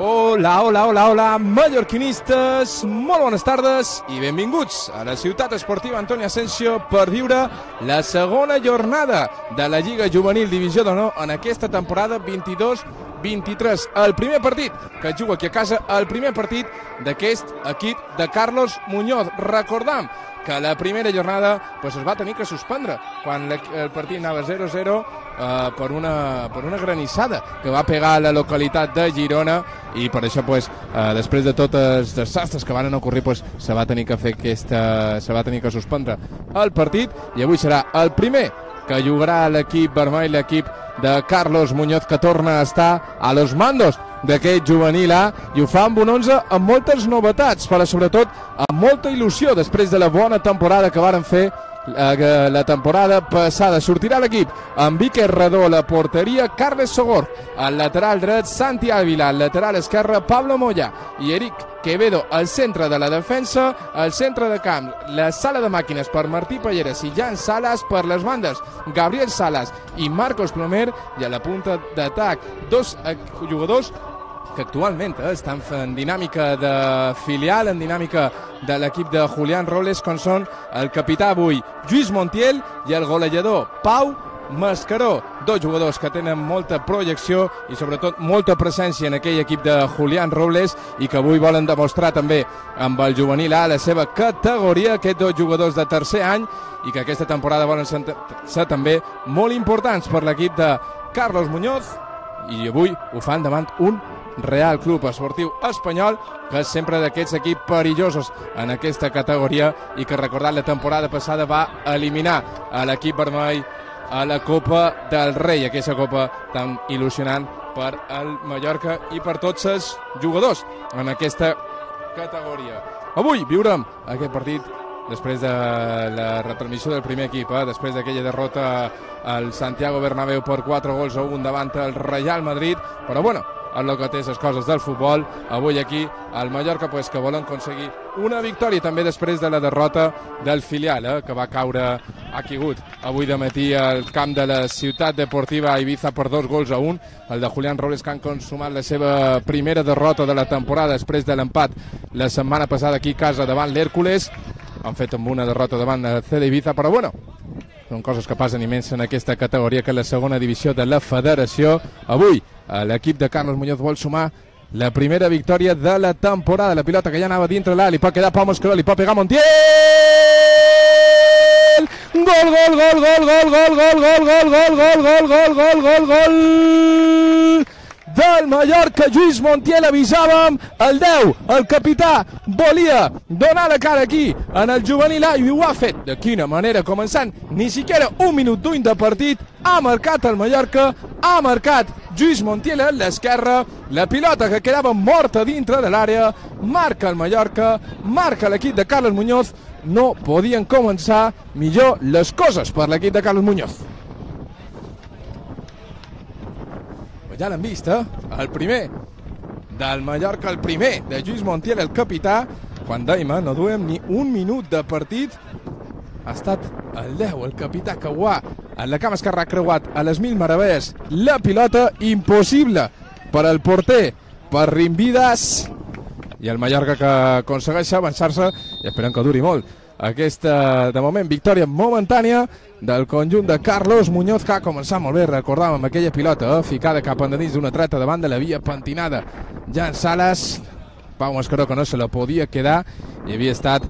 Hola, hola, hola, hola, mallorquinistes, molt bones tardes i benvinguts a la ciutat esportiva Antoni Asensio per viure la segona jornada de la Lliga Juvenil Divisió d'Honor en aquesta temporada 22-23. El primer partit que juga aquí a casa, el primer partit d'aquest equip de Carlos Muñoz. Recordam que la primera jornada es va tenir que suspendre quan el partit anava 0-0 per una granissada que va pegar a la localitat de Girona i per això després de tots els desastres que van ocorrir se va tenir que suspendre el partit i avui serà el primer que jugarà l'equip vermell, l'equip de Carlos Muñoz, que torna a estar a los mandos d'aquest juvenil A i ho fa amb un 11 amb moltes novetats, però sobretot amb molta il·lusió després de la bona temporada que varen fer la temporada passada. Sortirà l'equip amb Iker Redó a la porteria, Carles Sogor al lateral dret, Santi Ávila al lateral esquerre, Pablo Moya i Eric Quevedo al centre de la defensa, al centre de camp la sala de màquines per Martí Palleres i Jan Salas, per les bandes Gabriel Salas i Marcos Plomer, i a la punta d'atac dos jugadors que actualment estan en dinàmica de filial, en dinàmica de l'equip de Julián Robles, com són el capità avui Lluís Montiel i el golejador Pau Mascaró, dos jugadors que tenen molta projecció i sobretot molta presència en aquell equip de Julián Robles i que avui volen demostrar també amb el juvenil A la seva categoria, aquests dos jugadors de tercer any i que aquesta temporada volen ser també molt importants per l'equip de Carlos Muñoz, i avui ho fan davant un Real Club Esportiu Espanyol, que és sempre d'aquests equips perillosos en aquesta categoria i que, recordat, la temporada passada va eliminar a l'equip vermell a la Copa del Rei, aquesta copa tan il·lusionant per al Mallorca i per tots els jugadors en aquesta categoria. Avui viurem aquest partit després de la retransmissió del primer equip, després d'aquella derrota al Santiago Bernabéu per 4-1 davant el Real Madrid, però bueno, és el que té les coses del futbol. Avui aquí al Mallorca que volen aconseguir una victòria també després de la derrota del filial que va caure, ha caigut avui de matí al camp de la Ciutat Deportiva Ibiza per 2-1, el de Julián Robles, que han consumat la seva primera derrota de la temporada després de l'empat la setmana passada aquí a casa davant l'Hèrcules. Han fet amb una derrota davant el CD Ibiza, però bueno, són coses que passen immens en aquesta categoria que és la segona divisió de la federació. Avui l'equip de Carlos Muñoz vol sumar la primera victòria de la temporada. La pilota que ja anava dintre l'A, li pot quedar Pau Mascaró, li pot pegar Montiel! Gol, gol, gol, gol, gol, gol, gol, gol, gol, gol, gol, gol, gol, gol, gol, gol del Mallorca. Lluís Montiel, avisàvem, el 10, el capità, volia donar la cara aquí en el juvenil A i ho ha fet. De quina manera, començant ni siquiera un minut d'ull de partit, ha marcat el Mallorca, ha marcat Lluís Montiel a l'esquerra, la pilota que quedava morta dintre de l'àrea, marca el Mallorca, marca l'equip de Carlos Muñoz. No podien començar millor les coses per l'equip de Carlos Muñoz. Ja l'hem vist, el primer del Mallorca, el primer de Lluís Montiel, el capità, quan dèiem, no duem ni un minut de partit, ha estat el 10, el capità que ho ha en la cama esquerra, ha creuat a les mil meravelles la pilota, impossible per al porter, per Rimvidas, i el Mallorca que aconsegueix avançar-se i esperem que duri molt aquesta, de moment, victòria momentània del conjunt de Carlos Muñoz, que ha començat molt bé, recordàvem aquella pilota ficada cap endins d'una treta davant de la via pentinada Jan Sales, Pau Mascaró, que no se la podia quedar, i havia estat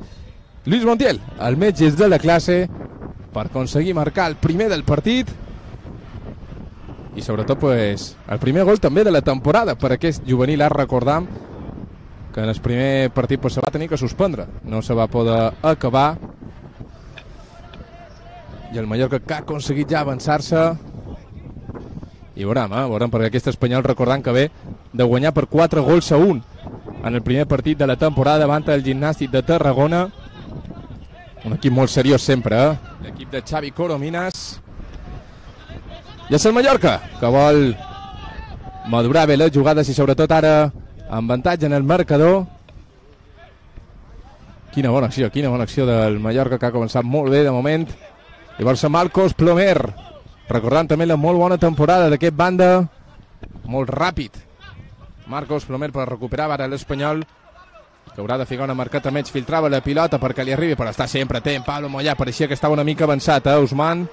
Lluís Montiel, el metge de la classe, per aconseguir marcar el primer del partit i sobretot pues, el primer gol també de la temporada per aquest juvenil. Ara recordam que en el primer partit pues, se va tenir que suspendre, no se va poder acabar, i el Mallorca que ha aconseguit ja avançar-se, i veurem, perquè aquest Espanyol recordant que ve de guanyar per 4-1 en el primer partit de la temporada davant el Gimnàstic de Tarragona, un equip molt seriós sempre, l'equip de Xavi Corominas. I és el Mallorca que vol madurar bé les jugades i sobretot ara amb avantatge en el marcador. Quina bona acció del Mallorca, que ha començat molt bé de moment. Llavors Marcos Plomer, recordant també la molt bona temporada d'aquest banda, molt ràpid Marcos Plomer per recuperar ara l'Espanyol, que haurà de ficar una marqueta menys. Filtrava la pilota perquè li arribi, però està sempre atent Pablo Moyà, pareixia que estava una mica avançat, Usman,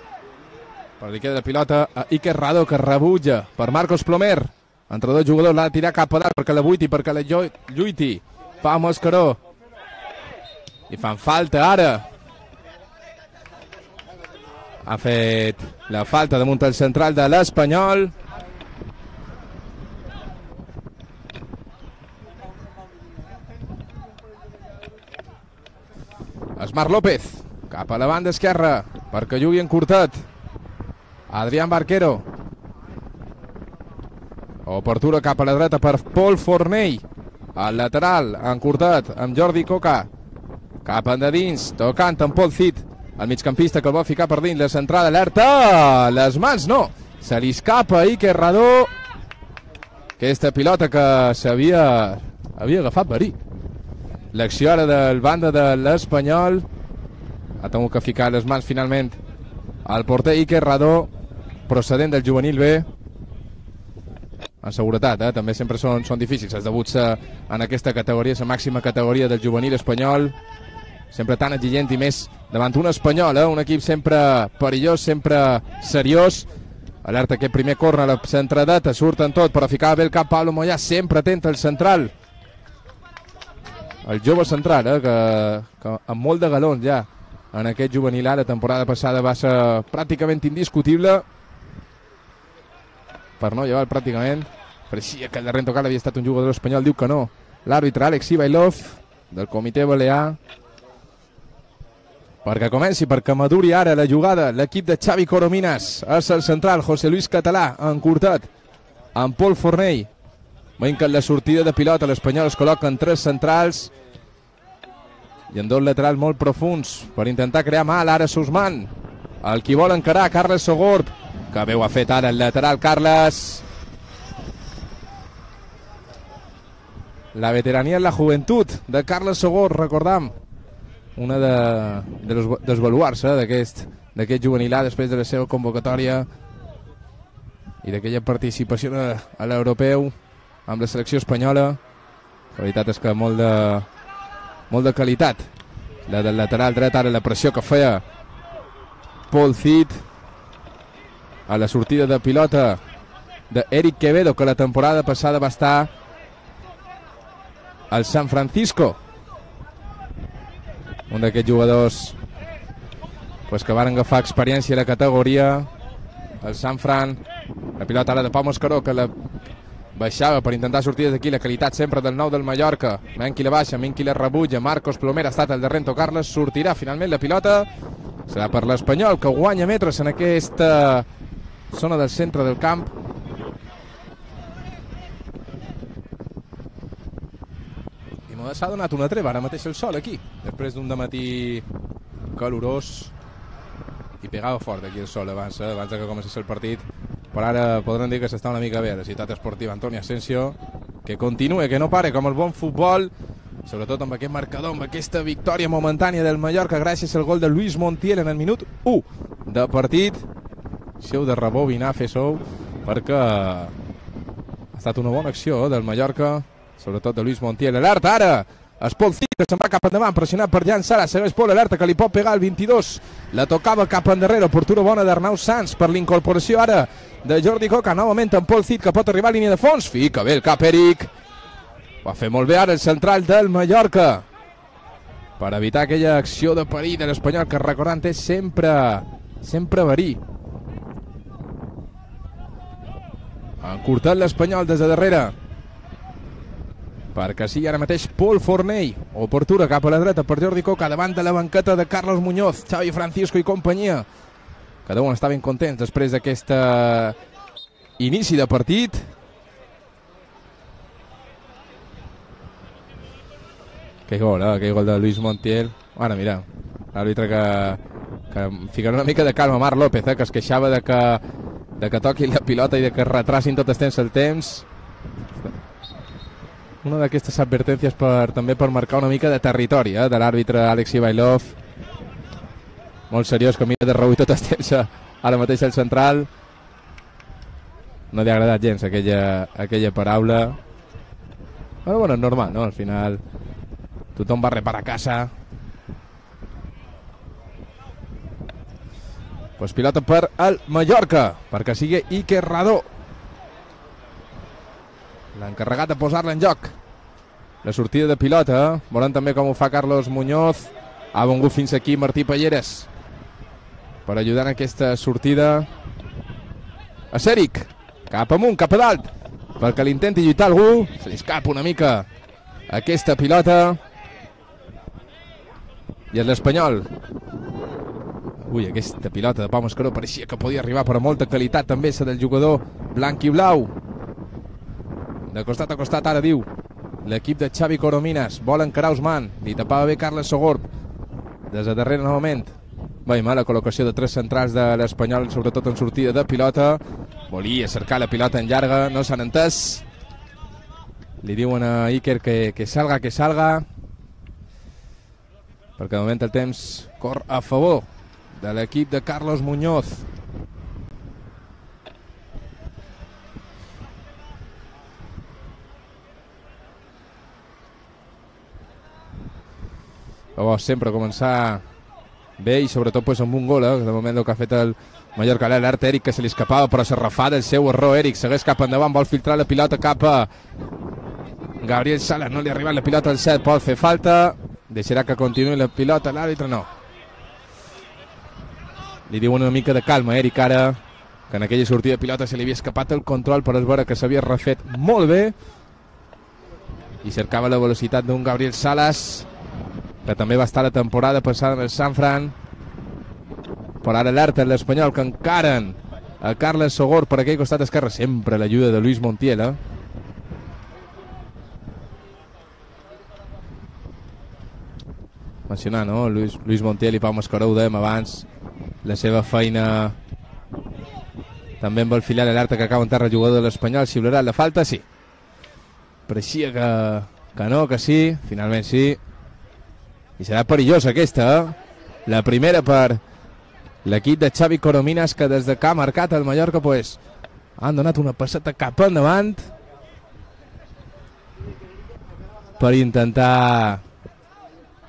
però li queda la pilota a Iker Rado, que rebutja per Marcos Plomer. Entre dos jugadors l'ha de tirar cap a dalt perquè la buiti, perquè la lluiti Pau Mascaró, i fan falta ara. Ha fet la falta damunt el central de l'Espanyol. Esmar López, cap a la banda esquerra, perquè jugui encurtat Adrián Barquero. Obertura cap a la dreta per Pol Fornell. Al lateral, encurtat amb Jordi Coca. Cap endins, tocant amb Pol Cid, el migcampista, que el va ficar per dins. La centrada, alerta, les mans no, se li escapa a Iker Radó. Aquesta pilota que havia agafat verí. L'acció ara del banda de l'Espanyol. Ha tingut que ficar les mans finalment al porter Iker Radó, procedent del juvenil B. En seguretat, també sempre són difícils els debuts en aquesta categoria, la màxima categoria del juvenil espanyol. Sempre tan exigent, i més davant un Espanyol, un equip sempre perillós, sempre seriós. Alerta aquest primer córner a la centradeta, surten tot, però ficava bé el cap Pablo Moyà, sempre atent al central. El jove central, que amb molt de galons ja en aquest juvenil A. La temporada passada va ser pràcticament indiscutible, per no llevar pràcticament. Pareixia que el darrer tocat havia estat un jugador espanyol, diu que no. L'àrbitre Alex Ivailov, del comitè balear. Perquè comenci, perquè maduri ara la jugada l'equip de Xavi Corominas. És el central, José Luis Català, encurtat amb Pol Fornell. Veiem que en la sortida de pilota l'Espanyol es col·loca en tres centrals i en dos laterals molt profuns per intentar crear mal. Ara Usman, el qui vol encarar, Carles Sogorb, que bé ho ha fet ara el lateral Carles. La veterania en la joventut de Carles Sogorb, recordam, una dels baluards d'aquest juvenil A després de la seva convocatòria i d'aquella participació a l'europeu amb la selecció espanyola. La veritat és que molt de qualitat la del lateral dret. Ara la pressió que feia Pol Cid a la sortida de pilota d'Eric Quevedo, que la temporada passada va estar al San Francisco, un d'aquests jugadors que van agafar experiència a la categoria, el San Fran. La pilota ara de Pau Mascaró, que la baixava per intentar sortir d'aquí. La qualitat sempre del nou del Mallorca. Menqui la baixa, Menqui la rebutja. Marcos Plomer ha estat el darrer en tocar-la. Sortirà finalment la pilota. Serà per l'Espanyol, que guanya metres en aquesta zona del centre del camp. I s'ha donat una treva ara mateix el sol aquí, després d'un dematí calorós, i pegava fort aquí el sol abans que comencés el partit. Però ara podran dir que s'està una mica bé a la ciutat esportiva Antonio Asensio, que continua, que no pare, com el bon futbol, sobretot amb aquest marcador, amb aquesta victòria momentània del Mallorca gràcies al gol de Lluís Montiel en el minut 1 de partit. Si heu de rebobinar, fes-ho, perquè ha estat una bona acció del Mallorca, sobretot de Lluís Montiel. Alerta ara, es Pol Cid, que se'n va cap endavant, pressionat per Jan Sala. Segueix Pol, alerta, que li pot pegar el 22. La tocava cap endarrere, oportuna bona d'Arnau Sanz per l'incorporació ara de Jordi Coca. Novament amb Pol Cid, que pot arribar a línia de fons. Fica bé el cap Eric. Ho ha fet molt bé ara el central del Mallorca per evitar aquella acció de perill de l'Espanyol, que recordant és sempre verí. Ha encurtat l'Espanyol des de darrere perquè sigui ara mateix Pol Fornell. Oportuna cap a la dreta per Jordi Coca, davant de la banqueta de Carlos Muñoz, Xavi Francisco i companyia. Cada un està ben content després d'aquest inici de partit. Que gol de Luis Montiel. Ara, mira, l'àrbitre que fica una mica de calma, Marc López, que es queixava de que toqui la pilota i de que retrasin tot el temps. Una d'aquestes advertències també per marcar una mica de territori de l'àrbitre Alex Ivailov. Molt seriós, que mira de reüll tot el temps ara mateix el central. No li ha agradat gens aquella paraula. Però bueno, és normal, no? Al final tothom va reparar a casa. Pues pilota per el Mallorca, perquè sigui Iker Radó l'encarregat de posar-la en joc. La sortida de pilota, veurem també com ho fa Carlos Muñoz. Ha vengut fins aquí Martí Palleres per ajudar en aquesta sortida. A Sèric, cap amunt, cap a dalt, perquè l'intenti lluitar algú. Se li escapa una mica aquesta pilota. I és l'Espanyol. Ui, aquesta pilota de Pau Mascaró pareixia que podia arribar, però molta qualitat també la del jugador blanc i blau. De costat a costat ara diu l'equip de Xavi Coromines. Vol encarar Ousmane, li tapava bé Carles Sogorb. Des de darrere novament. Mala col·locació de tres centrals de l'Espanyol, sobretot en sortida de pilota. Volia cercar la pilota en llarga, no s'han entès. Li diuen a Iker que salga, perquè de moment el temps corre a favor de l'equip de Carlos Muñoz. Sempre començar bé i sobretot amb un gol, de moment el que ha fet el Mallorca. L'alerta Eric, que se li escapava, però se refà del seu error. Eric segueix cap endavant, vol filtrar la pilota cap a Gabriel Salas. No li ha arribat la pilota al set, pot fer falta. Deixarà que continuï la pilota, l'àrbitre no. Li diuen una mica de calma, Eric, ara, que en aquella sortida de pilota se li havia escapat el control, però es veure que s'havia refet molt bé i cercava la velocitat d'un Gabriel Salas, que també va estar la temporada passada en el San Fran. Per ara alerta l'Espanyol, que encaren a Carles Sogorb per aquell costat esquerre. Sempre l'ajuda de Luis Montiel, mencionar, no? Luis Montiel i Pau Mascaró, ho dèiem abans, la seva feina també amb el filial. Alerta que acaba en terra el jugador de l'Espanyol. Xiularà la falta? Sí. Pareixia que no, que sí. Finalment sí. I serà perillosa aquesta, la primera per l'equip de Xavi Coromines, que des de que ha marcat el Mallorca han donat una passeta cap endavant per intentar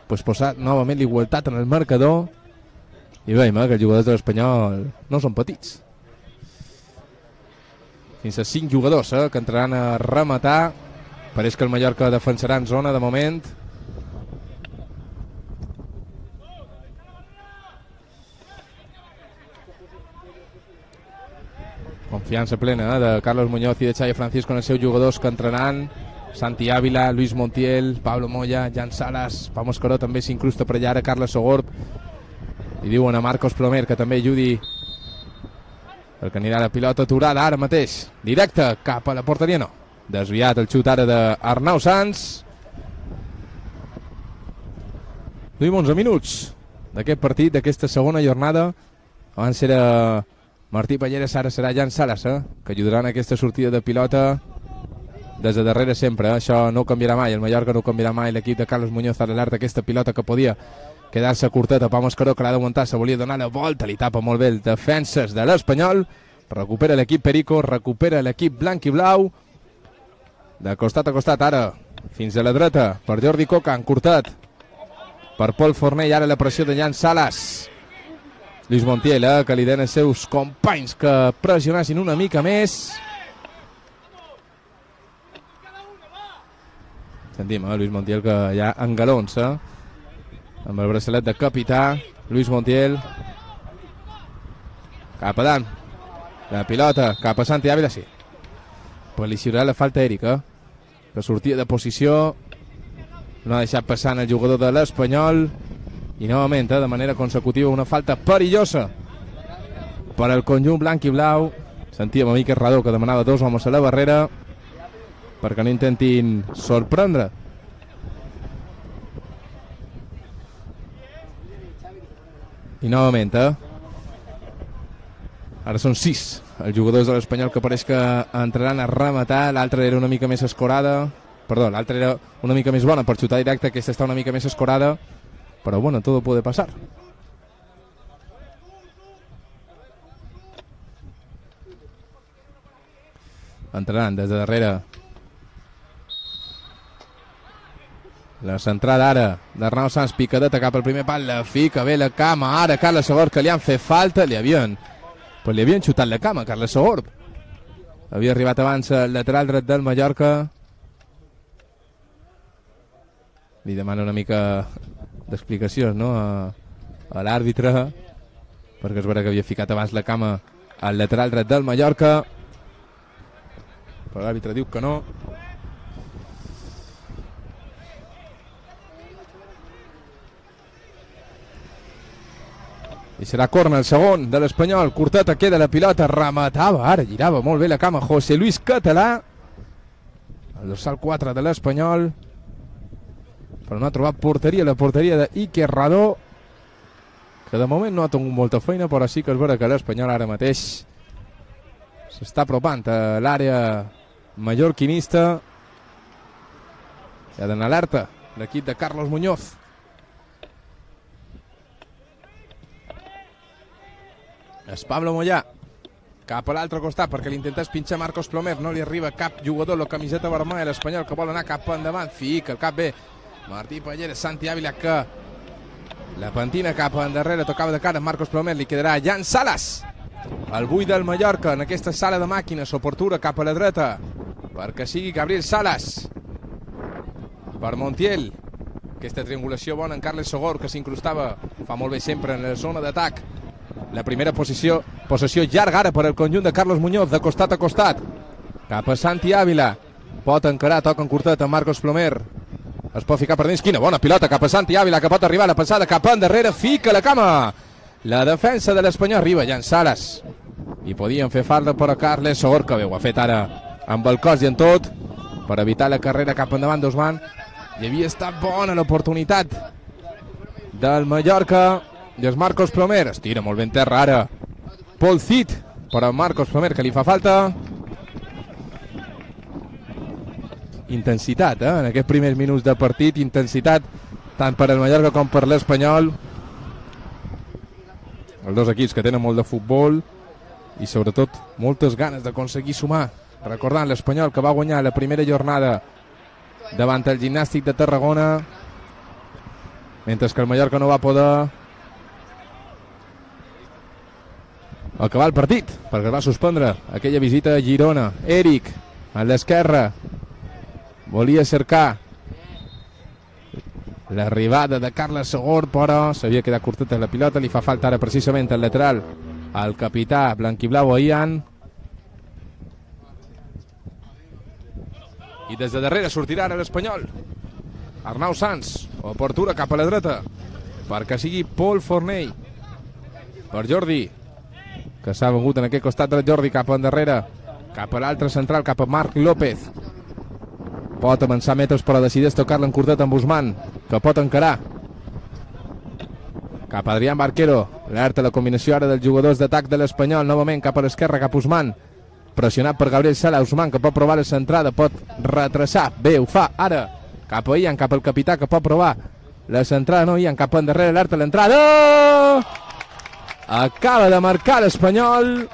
posar novament l'igualtat en el marcador. I veiem que els jugadors de l'Espanyol no són petits. Fins a 5 jugadors que entraran a rematar. Pareix que el Mallorca defensarà en zona de moment. Confiança plena de Carlos Muñoz i de Xavi Francisco en els seus jugadors que entraran. Santi Ávila, Luis Montiel, Pablo Moya, Jan Salas, Pau Mascaró també s'incrusta per allà, ara Carles Sogorb. I diuen a Marcos Plomer que també ajudi, perquè anirà la pilota aturada ara mateix, directe cap a la porteria. No, desviat el xut ara d'Arnau Sans. Duim 11 minuts d'aquest partit, d'aquesta segona jornada. Abans era Martí Palleres, ara serà Jan Salas, que ajudaran a aquesta sortida de pilota des de darrere sempre. Això no ho canviarà mai, el Mallorca no ho canviarà mai. L'equip de Carlos Muñoz a l'alert d'aquesta pilota que podia quedar-se curteta. Pau Mascaró, que l'ha de muntar, se volia donar la volta, li tapa molt bé el defenses de l'Espanyol. Recupera l'equip Perico, recupera l'equip blanc i blau. De costat a costat ara, fins a la dreta per Jordi Coca, encurtat per Pol Fornell. Ara la pressió de Jan Salas. Luis Montiel, que li den els seus companys que pressionassin una mica més. Sentim, Luis Montiel, que ja engalonsa amb el braçalet de capità. Luis Montiel cap a dalt, la pilota cap a Santi Ávila, sí, pues li xiurà la falta a Eric, que sortia de posició, no ha deixat passant el jugador de l'Espanyol, i novament de manera consecutiva una falta perillosa per al conjunt blanc i blau. Sentíem a Miquel Radó que demanava 2 homes a la barrera perquè no intentin sorprendre. I novament, ara són 6 els jugadors de l'Espanyol que pareix que entraran a rematar. L'altra era una mica més escorada, perdó, l'altra era una mica més bona per xutar directe, aquesta està una mica més escorada, però bueno, todo puede pasar. Entraran des de darrere la centrada ara d'Arnau Sans, picadeta cap al primer pal, la fica bé la cama, ara Carles Segor, que li han fet falta, li havien xutat la cama a Carles Segor, havia arribat abans al lateral dret del Mallorca. Li demana una mica d'explicacions, no?, a l'àrbitre, perquè és vera que havia ficat abans la cama al lateral dret del Mallorca, però l'àrbitre diu que no. I serà corna el segon de l'Espanyol. Curteta, queda la pilota, rematava, ara girava molt bé la cama José Luis Català, el dorsal 4 de l'Espanyol, però no ha trobat porteria, la porteria d'Iker Radó, que de moment no ha tingut molta feina, però sí que és vera que l'Espanyol ara mateix s'està apropant a l'àrea mallorquinista. Ja d'anar alerta l'equip de Carlos Muñoz. És Pablo Moyà cap a l'altre costat perquè l'intentes pinxar Marcos Plomer, no li arriba cap jugador, la camiseta vermella, l'Espanyol que vol anar cap endavant, fica el cap bé Martí Palleres, Santi Ávila que la pentina cap endarrere, tocava de cara Marcos Plomer, li quedarà Jan Salas, el buit del Mallorca en aquesta sala de màquines, oportuna cap a la dreta perquè sigui Gabriel Salas per Montiel, aquesta triangulació bona en Carles Segor que s'incrustava, fa molt bé sempre en la zona d'atac. La primera possessió llarga ara per al conjunt de Carlos Muñoz, de costat a costat cap a Santi Ávila, pot encarar, toca en curtet a Marcos Plomer, es pot ficar per dins, quina bona pilota cap a Santi Ávila que pot arribar la passada cap endarrere, fica la cama la defensa de l'Espanyol, arriba Jan Salas i podien fer falta per a Carles Segor, que bé ho ha fet ara amb el cos i en tot per evitar la carrera cap endavant d'Osman. I havia estat bona l'oportunitat del Mallorca. I és Marcos Plomer, estira molt ben terra ara Paul Cid, però Marcos Plomer que li fa falta. Intensitat, en aquests primers minuts de partit, intensitat tant per al Mallorca com per l'Espanyol, els dos equips que tenen molt de futbol i sobretot moltes ganes d'aconseguir sumar. Recordant l'Espanyol que va guanyar la primera jornada davant el Gimnàstic de Tarragona, mentre que el Mallorca no va poder acabar el partit perquè es va suspendre aquella visita a Girona. Eric a l'esquerra volia cercar l'arribada de Carles Segor, però s'havia quedat curteta la pilota, li fa falta ara precisament el lateral al capità blanquiblau Ian, i des de darrere sortirà ara l'Espanyol. Arnau Sans, oportuna cap a la dreta perquè sigui Pol Fornell per Jordi, que s'ha vengut en aquest costat del Jordi cap endarrere, cap a l'altre central, cap a Marc López, pot avançar metres però decideix tocar-la en curtet amb Usman, que pot encarar cap a Adrián Barquero, alerta la combinació ara dels jugadors d'atac de l'Espanyol, novament cap a l'esquerra, cap a Usman, pressionat per Gabriel Sala. Usman que pot provar la centrada, pot retrasar, bé, ho fa ara cap a Ian, cap al capità que pot provar la centrada, no, Ian cap endarrere, alerta l'entrada, acaba de marcar l'Espanyol,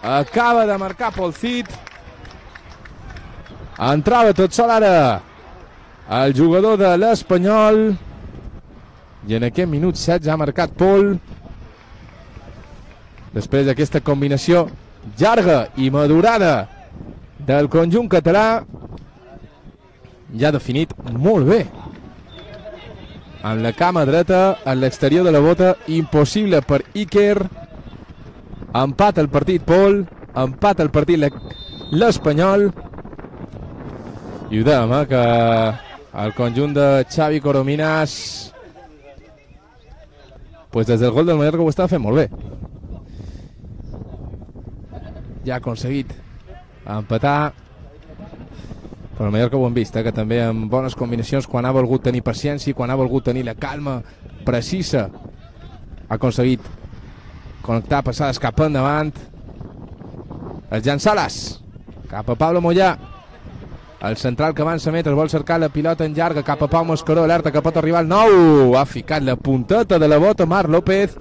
acaba de marcar Paul Cid, entrava tot sol ara el jugador de l'Espanyol i en aquest minut 16 ha marcat Pol després d'aquesta combinació llarga i madurada del conjunt català. ja ha definit molt bé. Amb la cama dreta, a l'exterior de la bota, impossible per Iker. Empat el partit Pol, empat el partit l'Espanyol. I ho dèiem, que el conjunt de Xavi Corominas, pues des del gol del Mallorca ho estava fent molt bé. Ja ha aconseguit empatar, però el Mallorca ho hem vist, que també amb bones combinacions, quan ha volgut tenir paciència, quan ha volgut tenir la calma precisa, ha aconseguit connectar passades cap endavant. El Jan Salas cap a Pablo Moyà, el central que avança metres, vol cercar la pilota en llarga cap a Pau Mascaró, alerta que pot arribar el 9, ha ficat la punteta de la bota Marc López,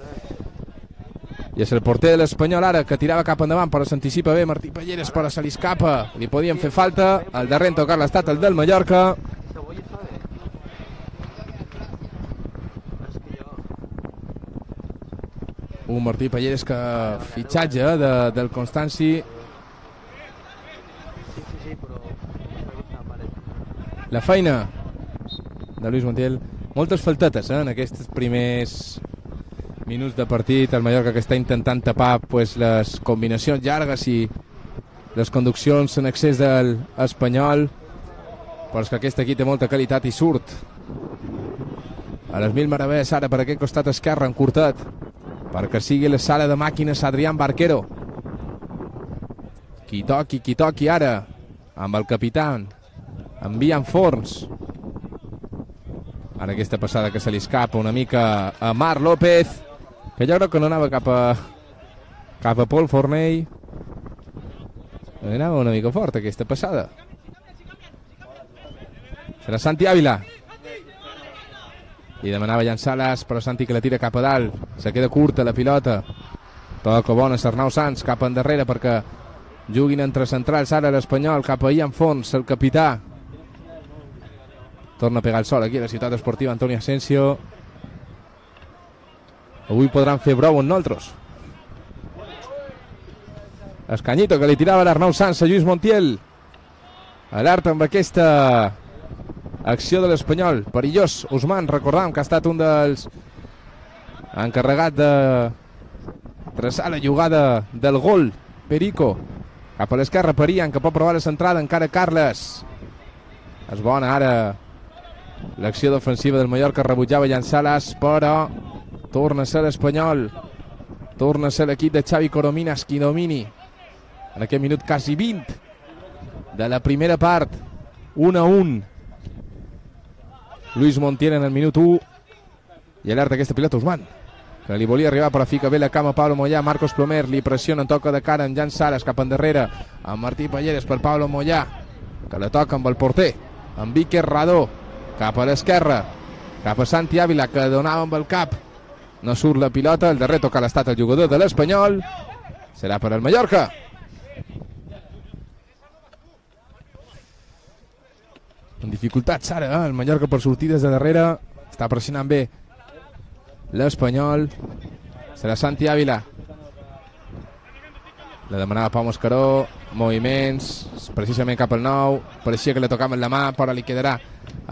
i és el porter de l'Espanyol ara que tirava cap endavant, però s'anticipa bé Martí Palleres, però se li escapa, li podien fer falta. El darrer en tocar l'estat, el del Mallorca. Un Martí Palleres que fitxatge del Constanci. La feina de Luis Montiel, moltes faltetes en aquests primers minuts de partit. El Mallorca que està intentant tapar les combinacions llargues i les conduccions en excés del Espanyol, però és que aquest equip té molta qualitat i surt a les mil meravelles ara per aquest costat esquerre encurtat perquè sigui la sala de màquines Adrián Barquero. Qui toqui ara amb el capità envien Forns. Ara aquesta passada que se li escapa una mica a Marc López, que jo crec que no anava cap a Pol Fornell. Anava una mica fort aquesta passada. Serà Santi Ávila. I demanava Jan Salas, però Santi que la tira cap a dalt. Se queda curta la pilota. Toca bona Arnau Sanz cap endarrere perquè juguin entre centrals ara l'Espanyol, cap a Ian Fons, el capità. Torna a pegar el sol aquí a la ciutat esportiva Antonio Asensio. Avui podran fer brou amb nosaltres. Escanyito que li tirava l'Arnau Sanz a Lluís Montiel. Alerta amb aquesta acció de l'Espanyol. Perillós, Ousmane, recordam que ha estat un dels encarregat de traçar la jugada del gol. Perico cap a l'esquerra, Perian, que pot provar la centrada, encara Carles. És bona ara l'acció defensiva del Mallorca, rebutjava Jan Salas, però torna a ser l'Espanyol, torna a ser l'equip de Xavi Corominas qui domini en aquest minut quasi 20 de la primera part. 1-1. Luis Montiel en el minut 1 i alerta aquesta pilota Ousmane, que li volia arribar però fica bé la cama Pablo Moyà. Marcos Plomer li pressiona en toca de cara amb Jan Salas cap endarrere amb Martí Palleres per Pablo Moyà, que la toca amb el porter amb Iker Radó cap a l'esquerra, cap a Santi Ávila, que donava amb el cap, no surt la pilota. El darrer toca l'estat el jugador de l'Espanyol, serà per al Mallorca. En dificultats ara el Mallorca per sortir des de darrere, està pressionant bé l'Espanyol. Serà Santi Ávila, la demanava Pau Mascaró, moviments precisament cap al 9, pareixia que li tocaven la mà, però li quedarà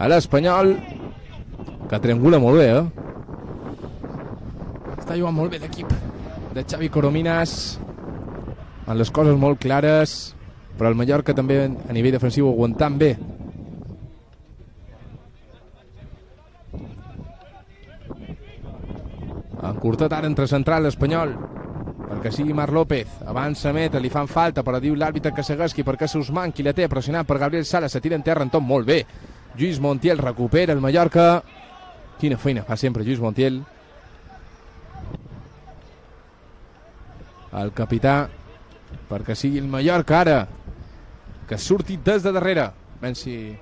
a l'Espanyol, que triangula molt bé, està jugant molt bé l'equip de Xavi Corominas, amb les coses molt clares, però el Mallorca també a nivell defensiu aguantant bé. Encurtat ara entre central l'Espanyol perquè sigui Marc López, avança meta, li fan falta, però diu l'àrbitre que segueixi perquè és Ousmane qui la té, pressionat per Gabriel Salas, se tira en terra en tot molt bé. Lluís Montiel recupera el Mallorca. Quina feina fa sempre Lluís Montiel, el capità, perquè sigui el Mallorca ara que surti des de darrere. Ben si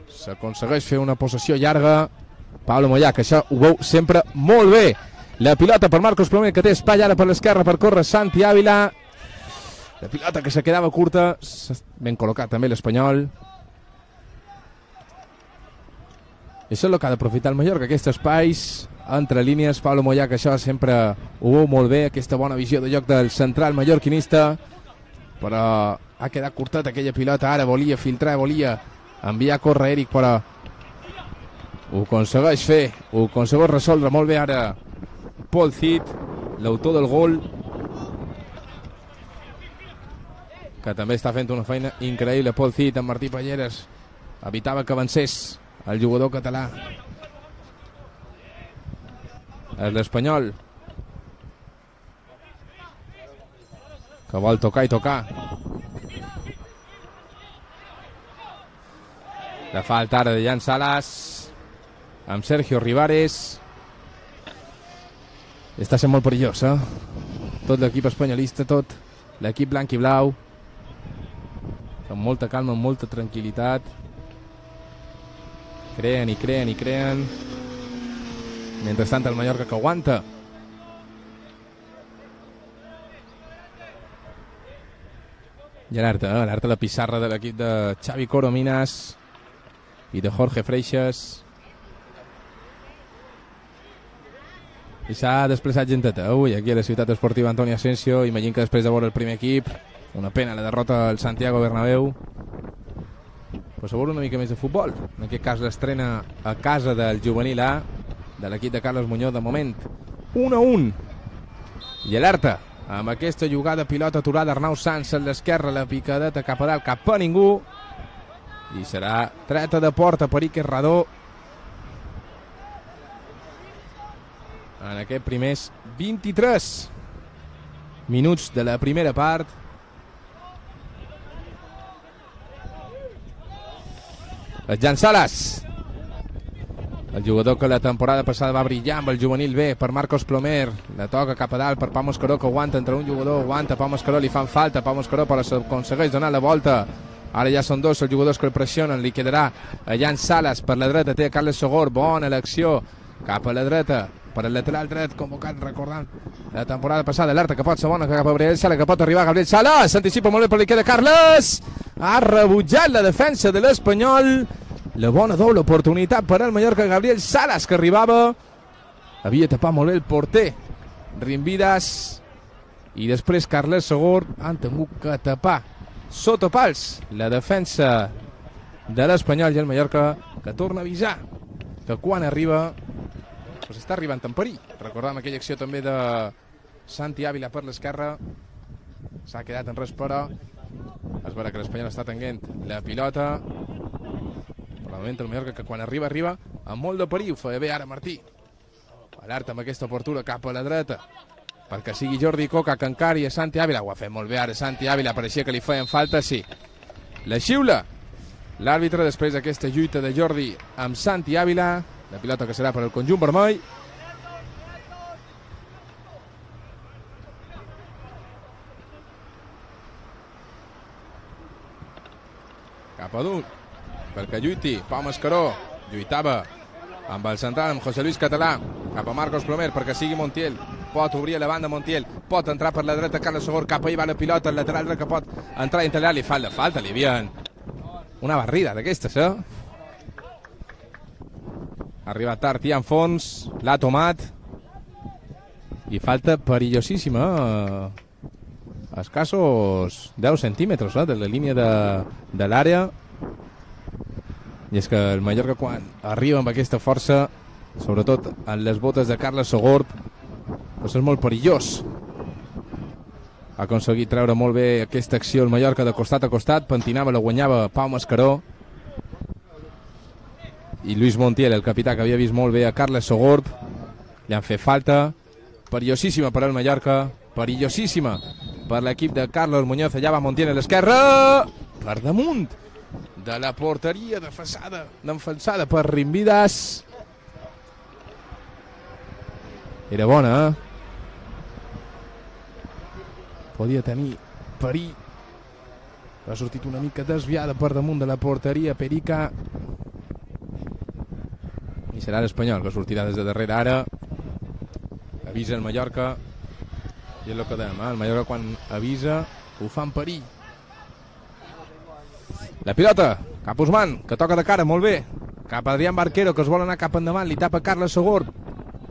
s'aconsegueix fer una possessió llarga. Pablo Moyà, que això ho veu sempre molt bé. La pilota per Marcos Plomer, que té espai ara per l'esquerra per córrer Santi Ávila. La pilota que se quedava curta. Ben col·locat també l'Espanyol. I això és el que ha d'aprofitar el Mallorca, aquests espais entre línies. Pablo Moyà, que això sempre ho veu molt bé, aquesta bona visió de joc del central mallorquinista, però ha quedat curtat aquella pilota. Ara volia filtrar, volia enviar a córrer Eric, però ho aconsegueix fer, ho aconsegueix resoldre molt bé ara Paul Cid, l'autor del gol, que també està fent una feina increïble. Paul Cid amb Martí Palleres evitava que avancés el jugador català. És l'Espanyol que vol tocar i tocar. La falta ara de Jan Salas amb Sergio Rivares. Està sent molt perillós, tot l'equip espanyolista, tot l'equip blanc i blau, amb molta calma, amb molta tranquil·litat, creen i creen i creen. Mentrestant el Mallorca que aguanta. I alerta la pissarra de l'equip de Xavi Corominas i de Jorge Freixas. I s'ha desplaçat genteta avui aquí a la ciutat esportiva Antoni Asensio. Imagino que després de veure el primer equip, una pena la derrota al Santiago Bernabéu, però s'ha veure una mica més de futbol. En aquest cas l'estrena a casa del juvenil A de l'equip de Carles Muñoz. De moment 1-1. I alerta amb aquesta jugada, pilota aturada, Arnau Sanz a l'esquerra, la picadeta cap a dalt, cap a ningú, i serà treta de porta per Iker Radó en aquests primers 23 minuts de la primera part. El Jan Salas, el jugador que la temporada passada va brillar amb el juvenil B, per Marcos Plomer, la toca cap a dalt per Pau Mascaró, que aguanta entre un jugador, aguanta Pau Mascaró, li fan falta Pau Mascaró, però s'aconsegueix donar la volta. Ara ja són dos els jugadors que el pressionen, li quedarà a Jan Salas per la dreta, té a Carles Sogor, bona elecció cap a la dreta per el lateral dret, convocat, recordant la temporada passada, alerta que pot ser bona cap a Gabriel Sala, que pot arribar Gabriel Sala, s'anticipa molt bé per li queda Carles, ha rebutjat la defensa de l'Espanyol. La bona doble oportunitat per al Mallorca. Gabriel Salas, que arribava, havia tapat molt bé el porter Rimvidas, i després Carles Sogor han tingut que tapar sota pals la defensa de l'Espanyol, i el Mallorca que torna a avisar que quan arriba doncs està arribant en perill. Recordàvem aquella acció també de Santi Ávila per l'esquerra, s'ha quedat en res, però es veurà que l'Espanyol està tenint la pilota. Per el moment el Mallorca que quan arriba amb molt de perill. Ho feia bé ara Martí, alerta amb aquesta obertura cap a la dreta perquè sigui Jordi Coca que encari a Santi Ávila. Ho ha fet molt bé ara Santi Ávila, pareixia que li feien falta, sí. La xiula l'àrbitre després d'aquesta lluita de Jordi amb Santi Ávila. La pilota que serà per al conjunt vermell. Cap a dalt perquè lluiti Pau Mascaró, lluitava amb el central, amb José Luis Català, cap a Marcos Plomer perquè sigui Montiel, pot obrir a la banda Montiel, pot entrar per la dreta Carles Sogor, cap ahí va la pilota, el lateral dret que pot entrar i integrar, li fa la falta, li havien una barrida d'aquestes, ha arribat tard i en fons, l'ha tomat, i falta perillosíssima, a escassos 10 centímetres de la línia de l'àrea. I és que el Mallorca quan arriba amb aquesta força, sobretot en les botes de Carles Sogor, doncs és molt perillós. Ha aconseguit treure molt bé aquesta acció el Mallorca de costat a costat, pentinava, la guanyava Pau Mascaró, i Luis Montiel, el capità, que havia vist molt bé a Carles Sogor, li han fet falta. Perillosíssima per al Mallorca, perillosíssima per l'equip de Carlos Muñoz. Allà va Montiel a l'esquerra, per damunt de la porteria defensada per Rimvidas. Era bona, podia tenir perill. Ha sortit una mica desviada per damunt de la porteria Perica, i serà l'Espanyol que sortirà des de darrere ara. Avisa el Mallorca, i és el que dèiem, el Mallorca quan avisa ho fa en perill. La pilota cap a Usman, que toca de cara, molt bé, cap a Adrián Barquero, que es vol anar cap endavant, li tapa Carles Sogor,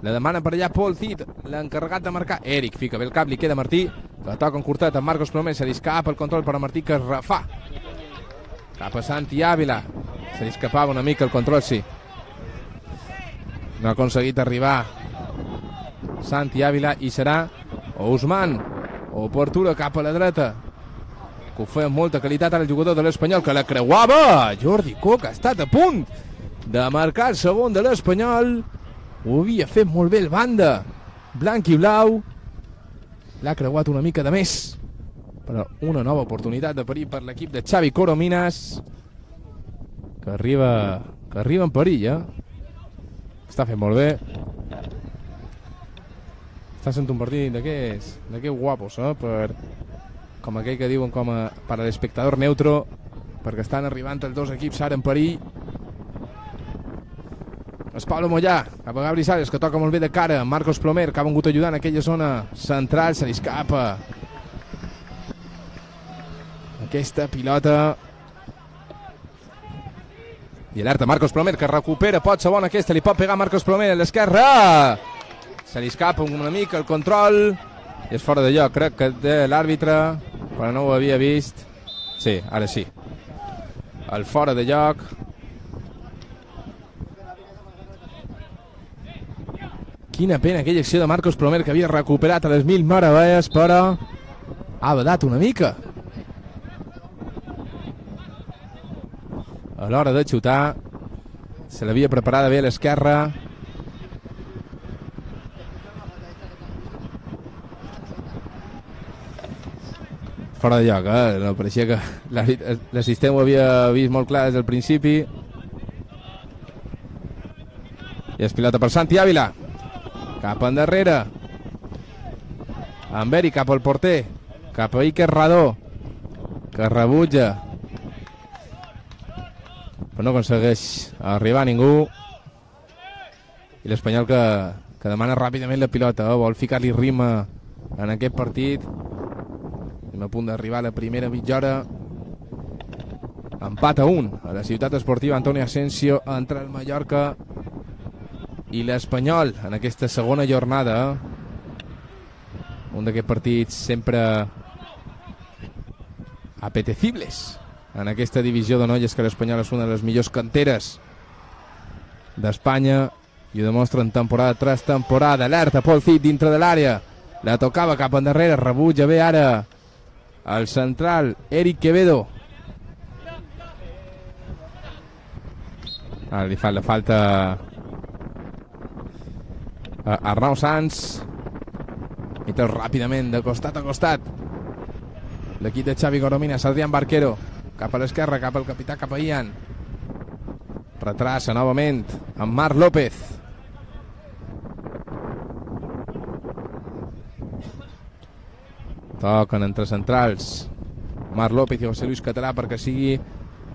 la demana per allà Paul Cid, l'encarregat de marcar Eric, fica bé el cap, li queda Martí, que toca en curtet amb Marcos Plomer, se li escapa el control per a Martí, que es refà cap a Santi Ávila, Se li escapava una mica el control, sí. No ha aconseguit arribar Santi Ávila i serà Ousmane. Obertura cap a la dreta, que ho feia amb molta qualitat ara el jugador de l'Espanyol, que la creuava. Jordi Coca ha estat a punt de marcar el segon de l'Espanyol. Ho havia fet molt bé el banda blanc i blau. L'ha creuat una mica de més, però una nova oportunitat de perill per l'equip de Xavi Corominas, que arriba en perill, està fent molt bé. Està sent un partit d'aquests guapos, com aquell que diuen com a per a l'espectador neutro, perquè estan arribant els dos equips ara en perill. És Pablo Mollà, cap a Gabri Sales, que toca molt bé de cara. Marcos Plomer, que ha vengut ajudant en aquella zona central, se li escapa aquesta pilota. I alerta Marcos Plomer, que recupera, pot ser bona aquesta, li pot pegar Marcos Plomer a l'esquerra. Se li escapa una mica el control i és fora de lloc, crec que de l'àrbitre, però no ho havia vist. Sí, ara sí. El fora de lloc. Quina pena aquella acció de Marcos Plomer, que havia recuperat a les 1000 meravelles, però ha badat una mica a l'hora de xutar. Se l'havia preparada bé a l'esquerra. Fora de lloc, no pareixia que l'assistent ho havia vist molt clar des del principi. I és pilota per Santi Ávila, cap endarrere. Amberi cap al porter, cap a Iker Radó, que rebutja, però no aconsegueix arribar a ningú. I l'Espanyol que demana ràpidament la pilota, vol ficar-li ritme en aquest partit. Estem a punt d'arribar a la primera mitja hora. Empat a 1 a la ciutat esportiva Antonio Asensio entre el Mallorca i l'Espanyol en aquesta segona jornada. Un d'aquests partits sempre apetecibles en aquesta divisió de noies, que l'Espanyol és una de les millors canteres d'Espanya i ho demostren temporada tras temporada. Alerta Paul Cid dintre de l'àrea, la tocava cap endarrere, rebutja bé ara el central Eric Quevedo. Ara li fa la falta a Arnau Sanz, i tot ràpidament de costat a costat l'equip de Xavi Corominas. Adrián Barquero cap a l'esquerra, cap al capità, cap a Ian. Retrassa novament amb Marc López. Toquen entre centrals Marc López i José Luis Català perquè sigui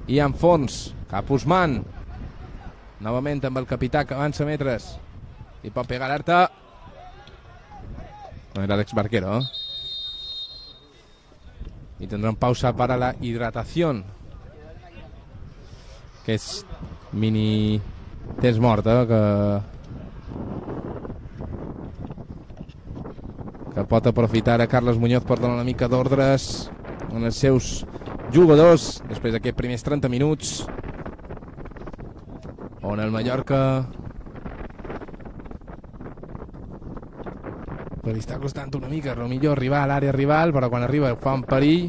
Ian Fons. Cap Ousmane, novament amb el capità, que avança metres i pot pegar l'Arta. No era Alex Barquero, y tendrán pausa para la hidratación, que és mini temps mort, que pot aprofitar a Carles Muñoz per donar una mica d'ordres en els seus jugadors després d'aquests primers 30 minuts on el Mallorca li està costant una mica, millor arribar a l'àrea rival, però quan arriba fa un perill.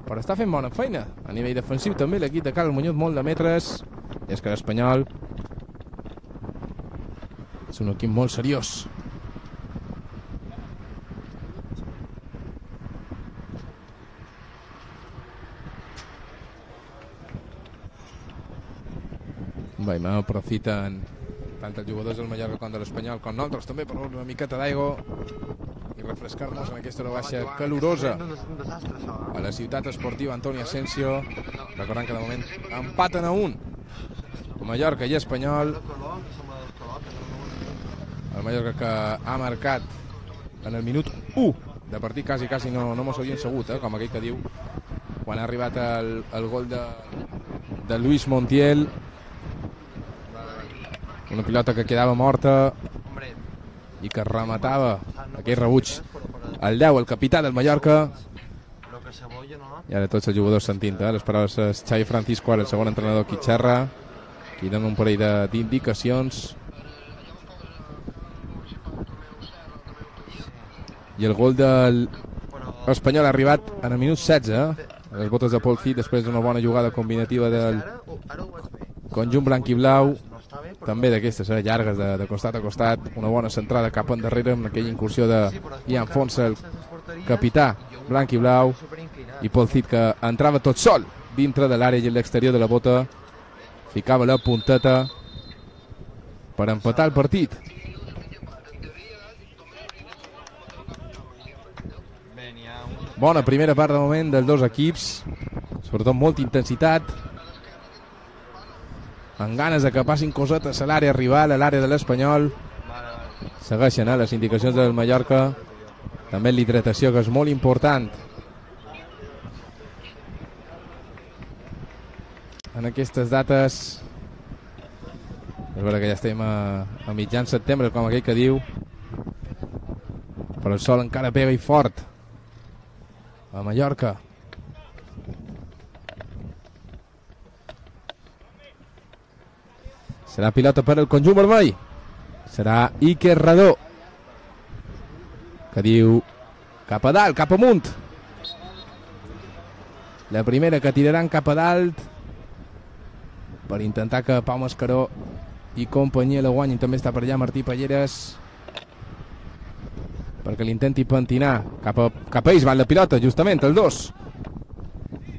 Però està fent bona feina a nivell defensiu també l'equip de Carles Muñoz, molt de metres. I és que l'Espanyol és un equip molt seriós. Bé, aprofiten tant els jugadors del Mallorca com de l'Espanyol, com nosaltres també, per una miqueta d'aigua i refrescar-nos en aquesta hora baixa calorosa a la ciutat esportiva Antonio Asensio. Recordant que de moment empaten a 1 Mallorca i Espanyol. El Mallorca que ha marcat en el minut 1 de partit, quasi no mos havien segut, com aquell que diu, quan ha arribat el gol de Luis Montiel. Una pilota que quedava morta i que rematava aquell rebuig el 10, el capità del Mallorca. I ara tots els jugadors sentint les paraules de Xavi Francisco, ara el segon entrenador qui xerra, qui dona un parell d'indicacions. I el gol del Espanyol ha arribat en el minut 16, a les botes de Paul Cid, després d'una bona jugada combinativa del conjunt blanc i blau, també d'aquestes llargues de costat a costat, una bona centrada cap endarrere amb aquella incursió de Ian Fonsa, el capità blanc i blau, i Paul Cid que entrava tot sol dintre de l'àrea i a l'exterior de la bota, ficava la punteta per empatar el partit. Bona primera part de moment dels dos equips, sobretot molta intensitat, amb ganes de que passin cosetes a l'àrea rival, a l'àrea de l'Espanyol. Segueixen les indicacions del Mallorca, també l'hidratació, que és molt important en aquestes dates. És vera que ja estem a mitjan setembre, com aquell que diu, però el sol encara pega i fort a Mallorca. Serà pilota per el conjunt vermell. Serà Iker Radó, que diu cap a dalt, cap amunt. La primera que tiraran cap a dalt per intentar que Pau Mascaró i companyia la guanyin. També està per allà Martí Palleres perquè l'intenti pentinar. Cap a ells va la pilota, justament, el 2.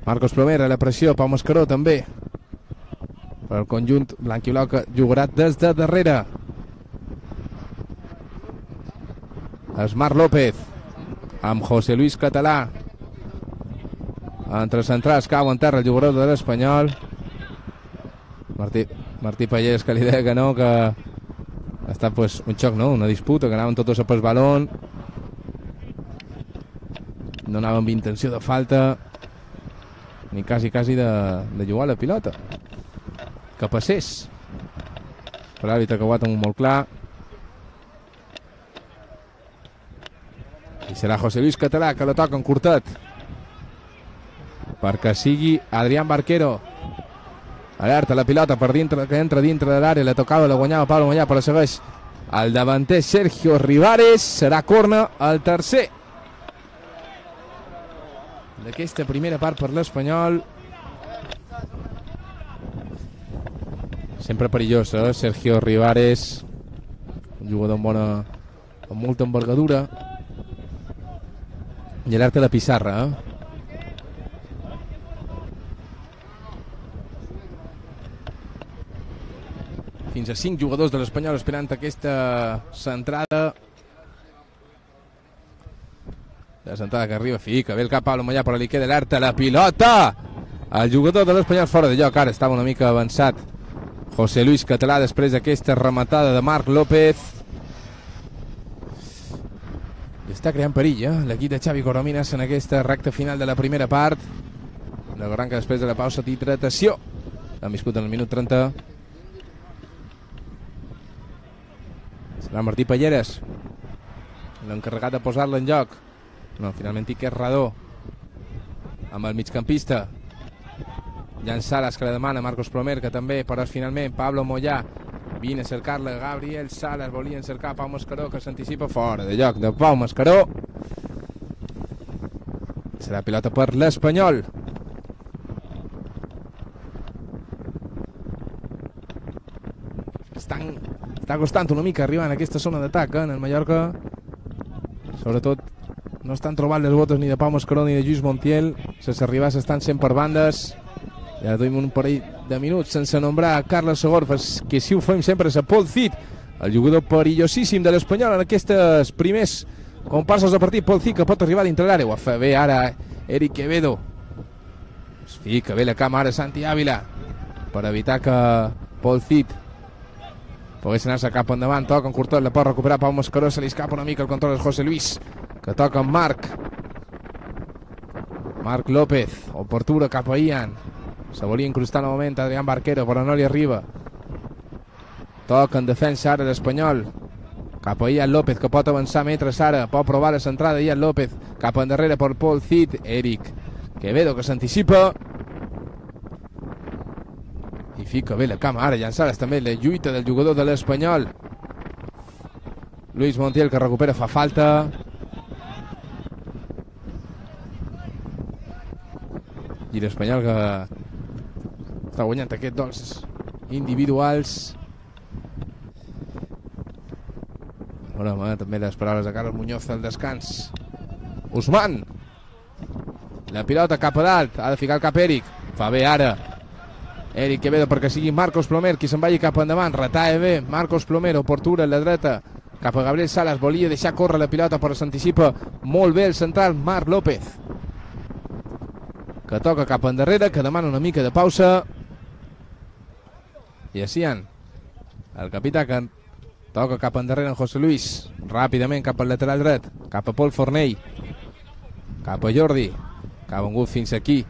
Marcos Plomer a la pressió, Pau Mascaró també per al conjunt blanc i blau, que jugarà des de darrere. Esmar López amb José Luis Català entre centrals, cau en terra el jugador de l'Espanyol. Martí Palleres, que li deia que no, que ha estat pues, un xoc, no? Una disputa, que anaven tots a pel balón, no anaven amb intenció de falta ni quasi de jugar la pilota, que passés, però l'àrbitre que ho ha tingut molt clar, i serà José Luis Català que la toca en curtet perquè sigui Adrián Barquero. Alerta la pilota per dintre, que entra dintre de l'àrea, la tocava, la guanyava Pablo Moyà, però segueix el davanter Sergio Rivares. Serà corna el tercer d'aquesta primera part per l'Espanyol. Sempre perillós, Sergio Rivares, un jugador amb molta envergadura. I alerta la pissarra, Fins a 5 jugadors de l'Espanyol esperant aquesta centrada. La centrada que arriba, fica bé el cap Pablo Moyà, però li queda alerta la pilota. El jugador de l'Espanyol fora de lloc, ara estava una mica avançat José Luis Català després d'aquesta rematada de Marc López. I està creant perill, l'equip de Xavi Coromines en aquesta recta final de la primera part. La gran que després de la pausa d'hidratació l'han viscut en el minut 30. Serà Martí Palleres l'encarregat de posar-la en joc. No, finalment Iker Radó amb el migcampista Jan Salas, que la demana Marcos Plomer, que també, però finalment Pablo Moyà vine a cercar-la. Gabriel Salas volien cercar Pau Mascaró, que s'anticipa fora de joc de Pau Mascaró. Serà pilota per l'Espanyol. Està costant una mica arribar en aquesta zona d'atac, en el Mallorca. Sobretot no estan trobant les botes ni de Pau Mascaró ni de Lluís Montiel. Les arribades estan sent per bandes. Ja tenim un parell de minuts sense nombrar Carles Segor, que si ho fem sempre és a Paul Cid, el jugador perillosíssim de l'Espanyol en aquestes primers comparses de partit. Paul Cid, que pot arribar dintre l'àrea. Ho fa bé ara Eric Quevedo. Es fica bé la cama ara Santi Ávila per evitar que Paul Cid pogués anar-se cap endavant. Toca en curtot, la pot recuperar Pau Mascaró, se li escapa una mica el control de José Luis, que toca amb Marc López, oportuna cap a Ian. Se volia incrustar novament Adrián Barquero, però no li arriba. Toca en defensa ara l'Espanyol, cap a Ian López, que pot avançar metres ara, pot provar la centrada Ian López, cap endarrere per Paul Cid. Eric Quevedo que s'anticipa i fica bé la cama. Ara llançades també la lluita del jugador de l'Espanyol. Luis Montiel que recupera, fa falta. I l'Espanyol que està guanyant aquests dols individuals. També les paraules de Carlos Muñoz al descans. Ousmane, la pilota cap a dalt, ha de ficar el cap Eric, fa bé ara Eric Quevedo perquè sigui Marcos Plomer qui se'n vagi cap endavant, retalla bé Marcos Plomer, oportuna en la dreta cap a Gabriel Salas, volia deixar córrer la pilota però s'anticipa molt bé el central Marc López, que toca cap endarrere, que demana una mica de pausa. I Asian, el capità, que toca cap endarrere en José Luis, ràpidament cap al lateral dret, cap a Pol Fornell, cap a Jordi, que ha vengut fins aquí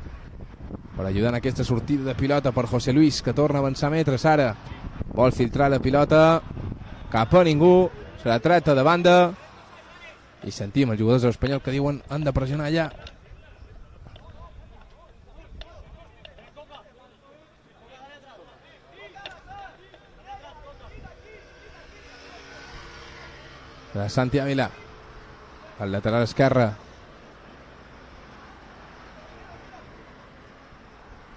per ajudar en aquesta sortida de pilota per José Luis, que torna a avançar metres ara, vol filtrar la pilota cap a ningú, se la treta de banda i sentim els jugadors de l'Espanyol que diuen han de pressionar allà. De Santi Ávila al lateral esquerre,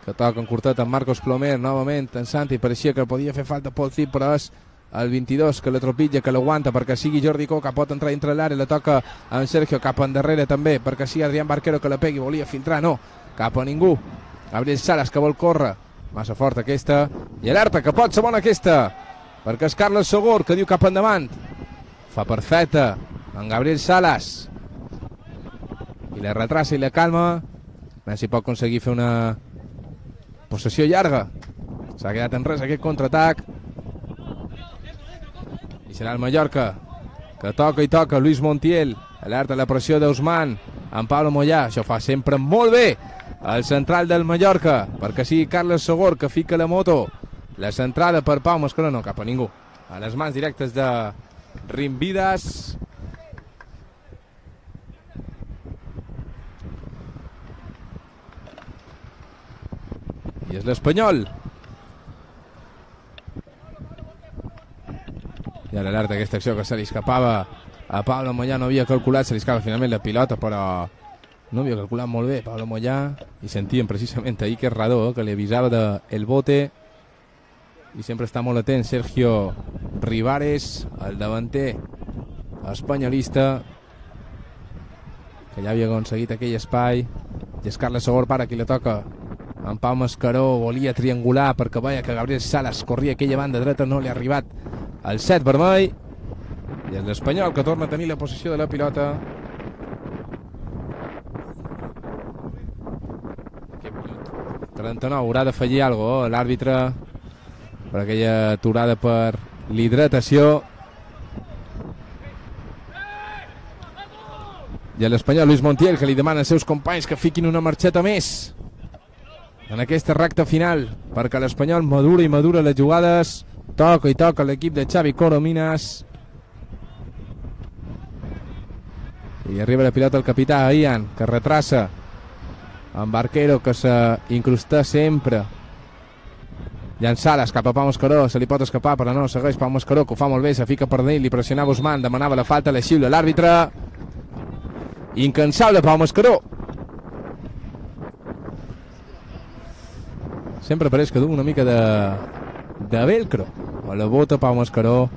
que toca en curtet amb Marcos Plomer, novament en Santi, pareixia que podia fer falta Pol Cip, però és el 22 que la tropitja, que l'aguanta perquè sigui Jordi Coca, pot entrar dintre l'àrea, la toca amb Sergio cap endarrere també, perquè sigui Adrián Barquero que la pegui, volia filtrar, no, cap a ningú. Gabriel Salas que vol córrer, massa forta aquesta, i alerta que pot ser bona aquesta, perquè és Carles Sogor que diu cap endavant, fa perfecta en Gabriel Salas i la retrassa i la calma, a veure si pot aconseguir fer una possessió llarga. S'ha quedat en res aquest contraatac i serà el Mallorca que toca i toca. Luis Montiel, alerta la pressió d'Ousmane en Pablo Moyà, això fa sempre molt bé el central del Mallorca, perquè sigui Carles Sogor que fica la moto, la centrada per Pau Mascaró, no cap a ningú, a les mans directes de Rimvidas. I és l'Espanyol. I ara l'alerta aquesta acció que se li escapava a Pablo Moyà, no havia calculat, se li escapa finalment la pilota, però no havia calculat molt bé Pablo Moyà, i sentíem precisament ahir que Radó, que li avisava del bote, i sempre està molt atent Sergio Rivares, el davanter espanyolista, que ja havia aconseguit aquell espai, i és Carles Sogor para qui la toca en Pau Mascaró, volia triangular perquè veia que Gabriel Salas corria aquella banda dreta, no li ha arribat el set vermell, i és l'Espanyol que torna a tenir la possessió de la pilota. Aquest minut 39, haurà de fallir alguna cosa l'àrbitre per aquella aturada per l'hidratació. I a l'Espanyol Luis Montiel, que li demana als seus companys que fiquin una marxeta més en aquesta recta final, perquè l'Espanyol madura i madura les jugades. Toca i toca l'equip de Xavi Corominas, i arriba la pilota el capità Ian, que retrassa amb Barquero, que s'incrusta sempre llançades cap a Pau Mascaró, se li pot escapar però no, segueix Pau Mascaró, que ho fa molt bé, se fica per dins, li pressionava Ousmane, demanava la falta, la xiula l'àrbitre. Incansable Pau Mascaró, sempre pareix que du una mica de velcro a la bota. Pau Mascaró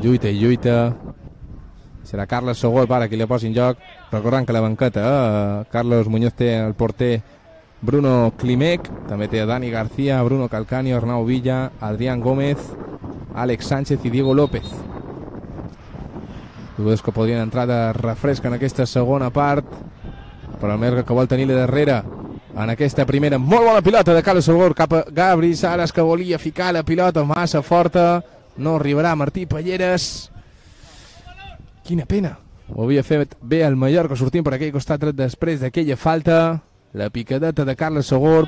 lluita i lluita, serà Carles Sogor para qui la posi en joc, recordant que la banqueta Carlos Muñoz té el porter Bruno Klimek, també té Dani García, Bruno Calcaño, Arnau Villa, Adrián Gómez, Àlex Sánchez i Diego López, jugadors que podrien entrar de refresc en aquesta segona part, però el Mallorca que vol tenir-la darrere en aquesta primera. Molt bona pilota de Carles Sogor cap a Gabri Salas, que volia ficar la pilota massa forta, no arribarà Martí Palleres. Quina pena, ho havia fet bé el Mallorca sortint per aquell costat després d'aquella falta. La picadeta de Carles Sogor,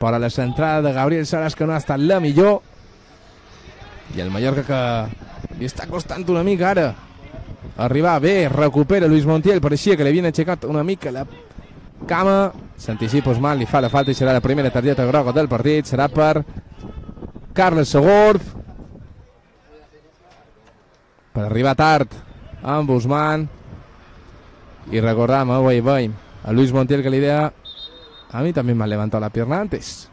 però la centrada de Gabriel Salas que no ha estat la millor, i el Mallorca que li està costant una mica ara arribar bé, recupera Luis Montiel, pareixia que li havien aixecat una mica la cama, s'anticipa Usman, li fa la falta i serà la primera targeta groga del partit, serà per Carles Segorb, per arribar tard amb Usman, y recordamos, veiem a Luis Montiel que la idea, a mí también me ha levantado la pierna antes,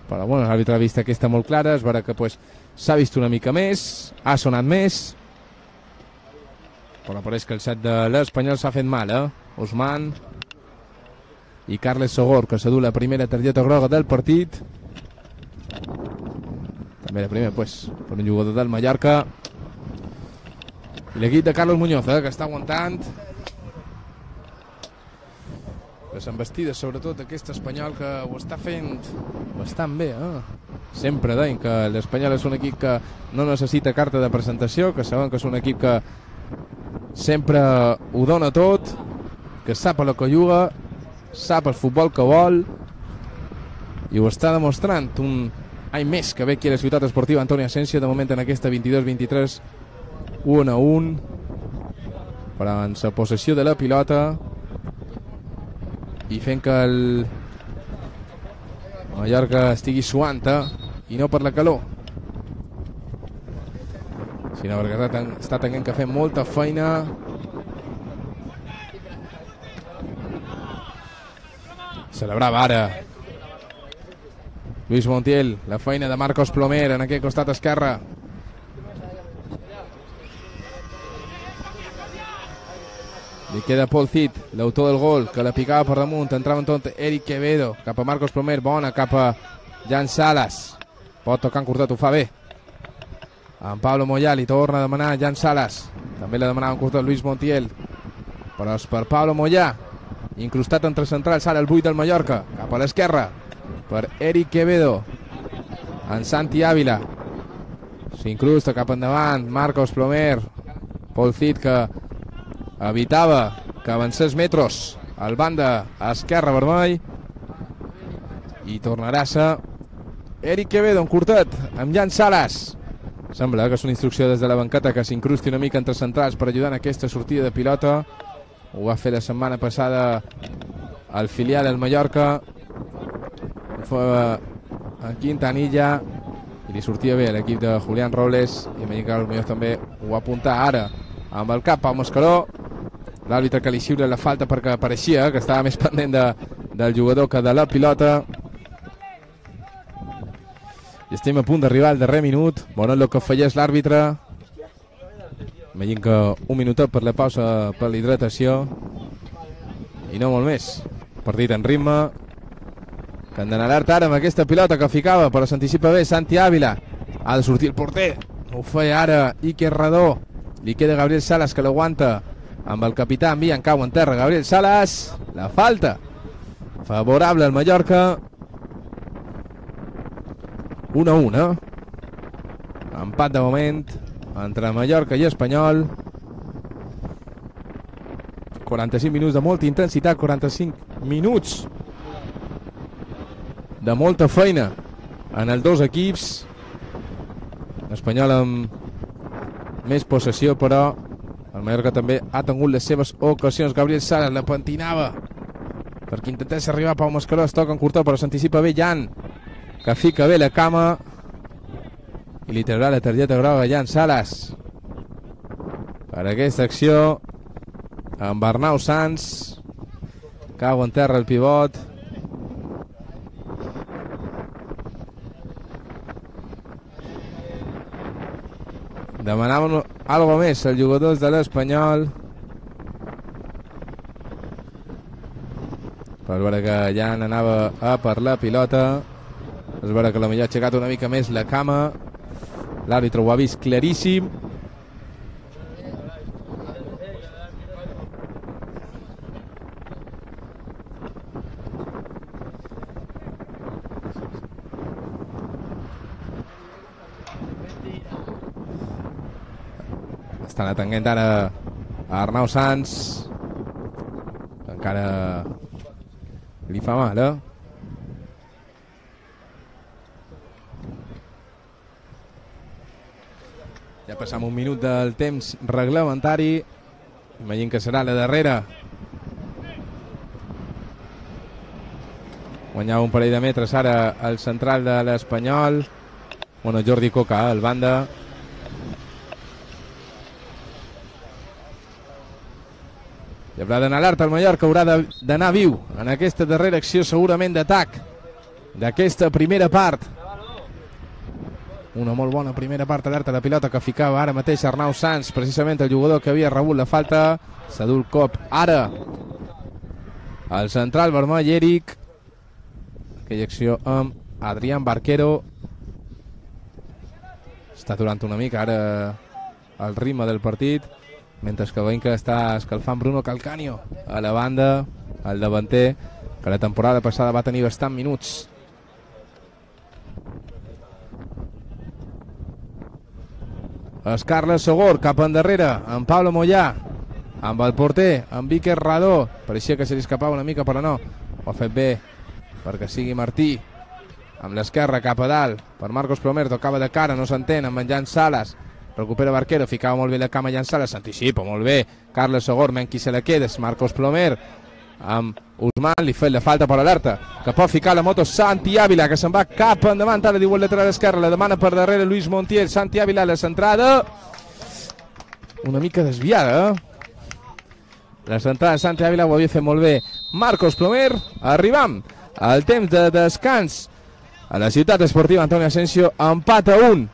però bueno, l'àrbitre ha vist aquesta molt clara, és vera que pues, s'ha vist una mica més, ha sonat més, però pareix que el set de l'Espanyol s'ha fet mal, Usman i Carles Segorb, que s'ha dut la primera targeta groga del partit, també la primera pues, per un jugador del Mallorca, i l'equip de Carlos Muñoz, que està aguantant les embestides, sobretot aquest Espanyol que ho està fent bastant bé, sempre deien que l'Espanyol és un equip que no necessita carta de presentació, que saben que és un equip que sempre ho dona tot, que sap a la que juga, sap el futbol que vol, i ho està demostrant un any més que ve aquí a la ciutat esportiva Antoni Asensio, de moment en aquesta 22-23 1-1, però en la possessió de la pilota i fent que el Mallorca estigui suant i no per la calor, sinó perquè està tenint que fer molta feina. Celebrava ara Luis Montiel la feina de Marcos Plomer en aquest costat esquerre. Li queda Paul Cid, l'autor del gol, que la picava per damunt, entrava en tot Eric Quevedo, cap a Marcos Plomer, bona, cap a Jan Salas, pot tocar en curtet, ho fa bé. En Pablo Moyà li torna a demanar Jan Salas, també la demanava en curtet Luis Montiel, però és per Pablo Moyà, incrustat entre centrals, ara el 8 del Mallorca, cap a l'esquerra, per Eric Quevedo, en Santi Ávila, s'incrusta cap endavant, Marcos Plomer, Paul Cid que evitava que avancés metros al banda esquerra vermell, i tornarà a ser Eric Quevedo en curtet amb Jan Salas. Sembla que és una instrucció des de la banqueta que s'incrusti una mica entre centrals per ajudar en aquesta sortida de pilota. Ho va fer la setmana passada al filial del Mallorca, ho fa en Quintanilla i li sortia bé a l'equip de Julián Robles, i m'ha dit que potser també ho apunta ara amb el cap a Mascaró. L'àrbitre que li xiula la falta perquè pareixia que estava més pendent del jugador que de la pilota. I estem a punt d'arribar al darrer minut. Bueno, el que falleix l'àrbitre. Imagino que un minutet per la pausa per la hidratació i no molt més. Partit en ritme, que han d'anar alerta ara amb aquesta pilota que ficava, però s'anticipa bé Santi Ávila. Ha de sortir el porter, ho feia ara Iker Radó. Li queda Gabriel Salas que l'aguanta amb el capità, envia en cau en terra Gabriel Salas, la falta favorable al Mallorca. 1-1, empat de moment entre Mallorca i Espanyol. 45 minuts de molta intensitat, 45 minuts de molta feina en els dos equips. Espanyol amb més possessió, però el Mallorca també ha tingut les seves ocasions. Gabriel Salas la pentinava perquè intentés arribar a Pau Mascaró, es toca en curta però s'anticipa bé Jan, que fica bé la cama i li traurà la targeta groga a Jan Salas per aquesta acció. amb Arnau Sans, cau en terra el pivot. Demanaven algo més els jugadors de l'Espanyol, per veure que ja anava a per la pilota. És veure que la millor ha aixecat una mica més la cama. L'àrbitre ho ha vist claríssim. Estan atenent ara a Arnau Sans, que encara li fa mal, Ja passam un minut del temps reglamentari. Imagino que serà la darrera. Guanyava un parell de metres ara el central de l'Espanyol. Bueno, Jordi Coca, el banda. I haurà d'anar alerta el Mallorca, haurà d'anar viu en aquesta darrera acció segurament d'atac d'aquesta primera part. Una molt bona primera part, alerta de pilota que ficava ara mateix Arnau Sans, precisament el jugador que havia rebut la falta. S'ha dut el cop ara el central vermell Eric. Aquella acció amb Adrián Barquero. Està aturant una mica ara el ritme del partit, mentre que veiem que està escalfant Bruno Calcaño a la banda, el davanter, que la temporada passada va tenir bastants minuts. És Carles Sogor cap endarrere, amb Pablo Moyà, amb el porter, amb Iker Radó. Pareixia que se li escapava una mica, però no, ho ha fet bé perquè sigui Martí. Amb l'esquerra cap a dalt per Marcos Plomer, tocava de cara, no s'entén, amb en Jan Sales. Recupera Barquero, ficava molt bé la cama Jan Sales, s'anticipa molt bé Carles Sogor, men qui se la queda és Marcos Plomer, amb Usman, li fet la falta per alerta, que pot ficar la moto Santi Ávila, que se'n va cap endavant, ara diu el lateral esquerre, la demana per darrere Luis Montiel. Santi Ávila, la centrada una mica desviada, la centrada de Santi Ávila ho havia fet molt bé Marcos Plomer. Arribam al temps de descans a la ciutat esportiva Antonio Asensio, empat a 1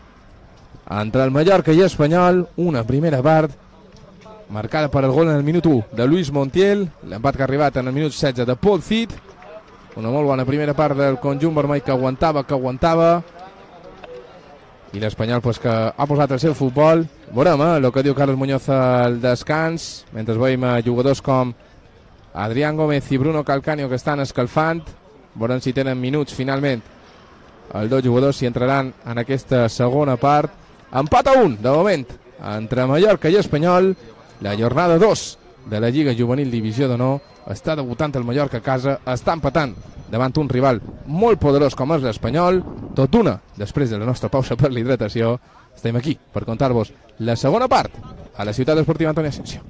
entre el Mallorca i Espanyol. Una primera part marcada per el gol en el minut 1 de Luis Montiel, l'empat que ha arribat en el minut 16 de Paul Cid. Una molt bona primera part del conjunt vermell que aguantava, i l'Espanyol pues, que ha posat el seu futbol. Veurem el que diu Carlos Muñoz al descans, mentre veiem jugadors com Adrián Gómez i Bruno Calcaño que estan escalfant. Veurem si tenen minuts finalment els dos jugadors, si entraran en aquesta segona part. Empat a 1 de moment entre Mallorca i Espanyol. La jornada 2 de la Lliga Juvenil Divisió d'Honor. Està debutant el Mallorca a casa, està empatant davant un rival molt poderós com és l'Espanyol. Tot una, després de la nostra pausa per l'hidratació, estem aquí per contar-vos la segona part a la ciutat esportiva Antonio Asensio.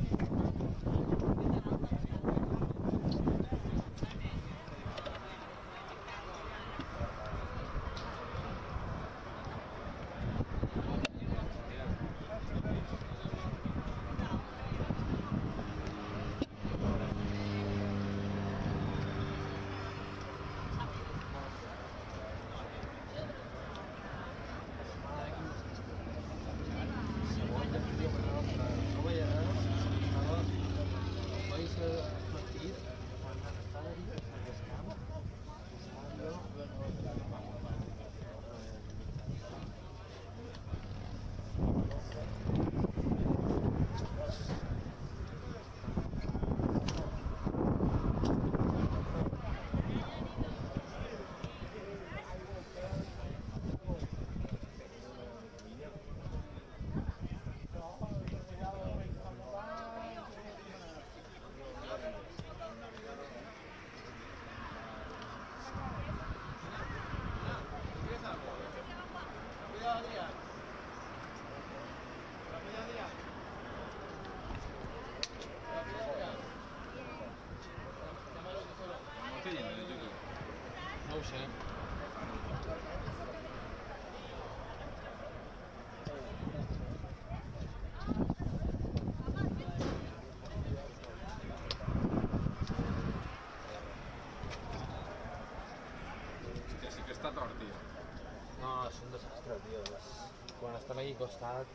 Estan aquí costat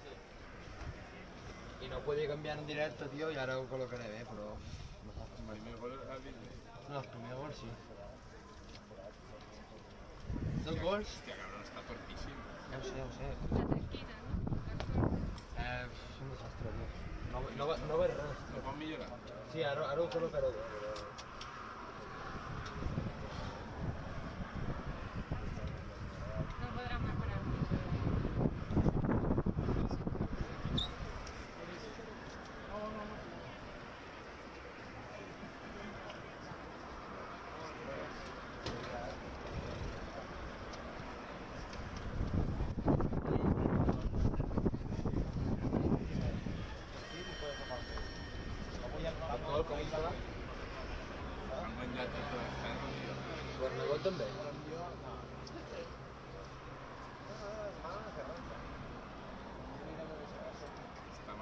i no podia canviar en directe, tio, i ara ho col·locaré bé, però... El primer gol has vist bé? No, el primer gol sí. Dos gols? Hòstia, cabrón, està fortíssim. Ja ho sé. És un desastre, tio. No veig res. No pot millorar? Sí, ara ho col·locaré bé, però...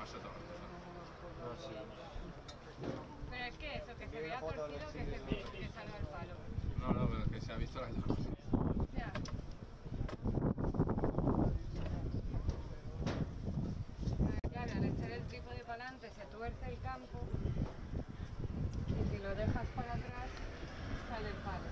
massa tort. No, sí. Pero es que eso, que se vea torcido que salga el palo. No, pero que se ha visto las dos. Ya. Claro, al echar el trípode para adelante se tuerce el campo y si lo dejas para atrás sale el palo.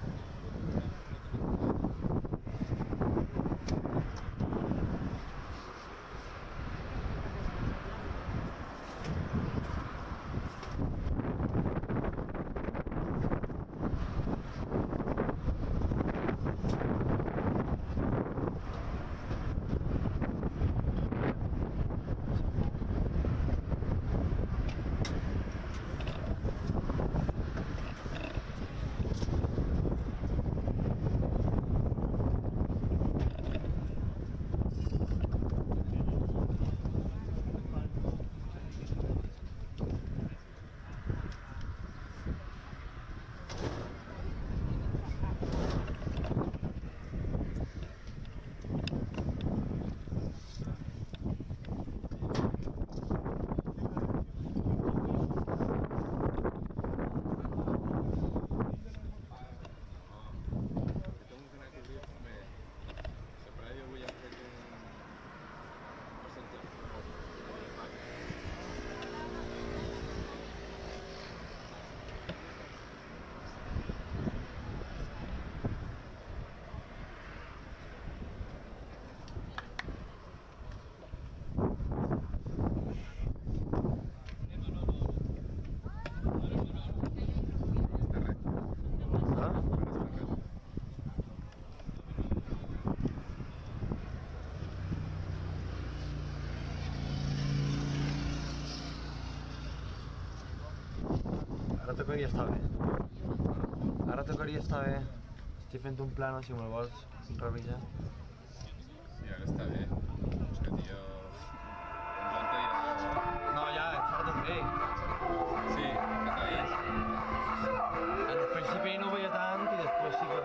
Ara tocaria estar bé. Ara tocaria estar bé. Estic fent un plano, si me'l vols revisar. Sí, ara està bé. És que, tio... Un joc te dirà... No, ja, et farà tot bé. Sí, que t'ha dit. Al principi no ho veia tant i després sí que...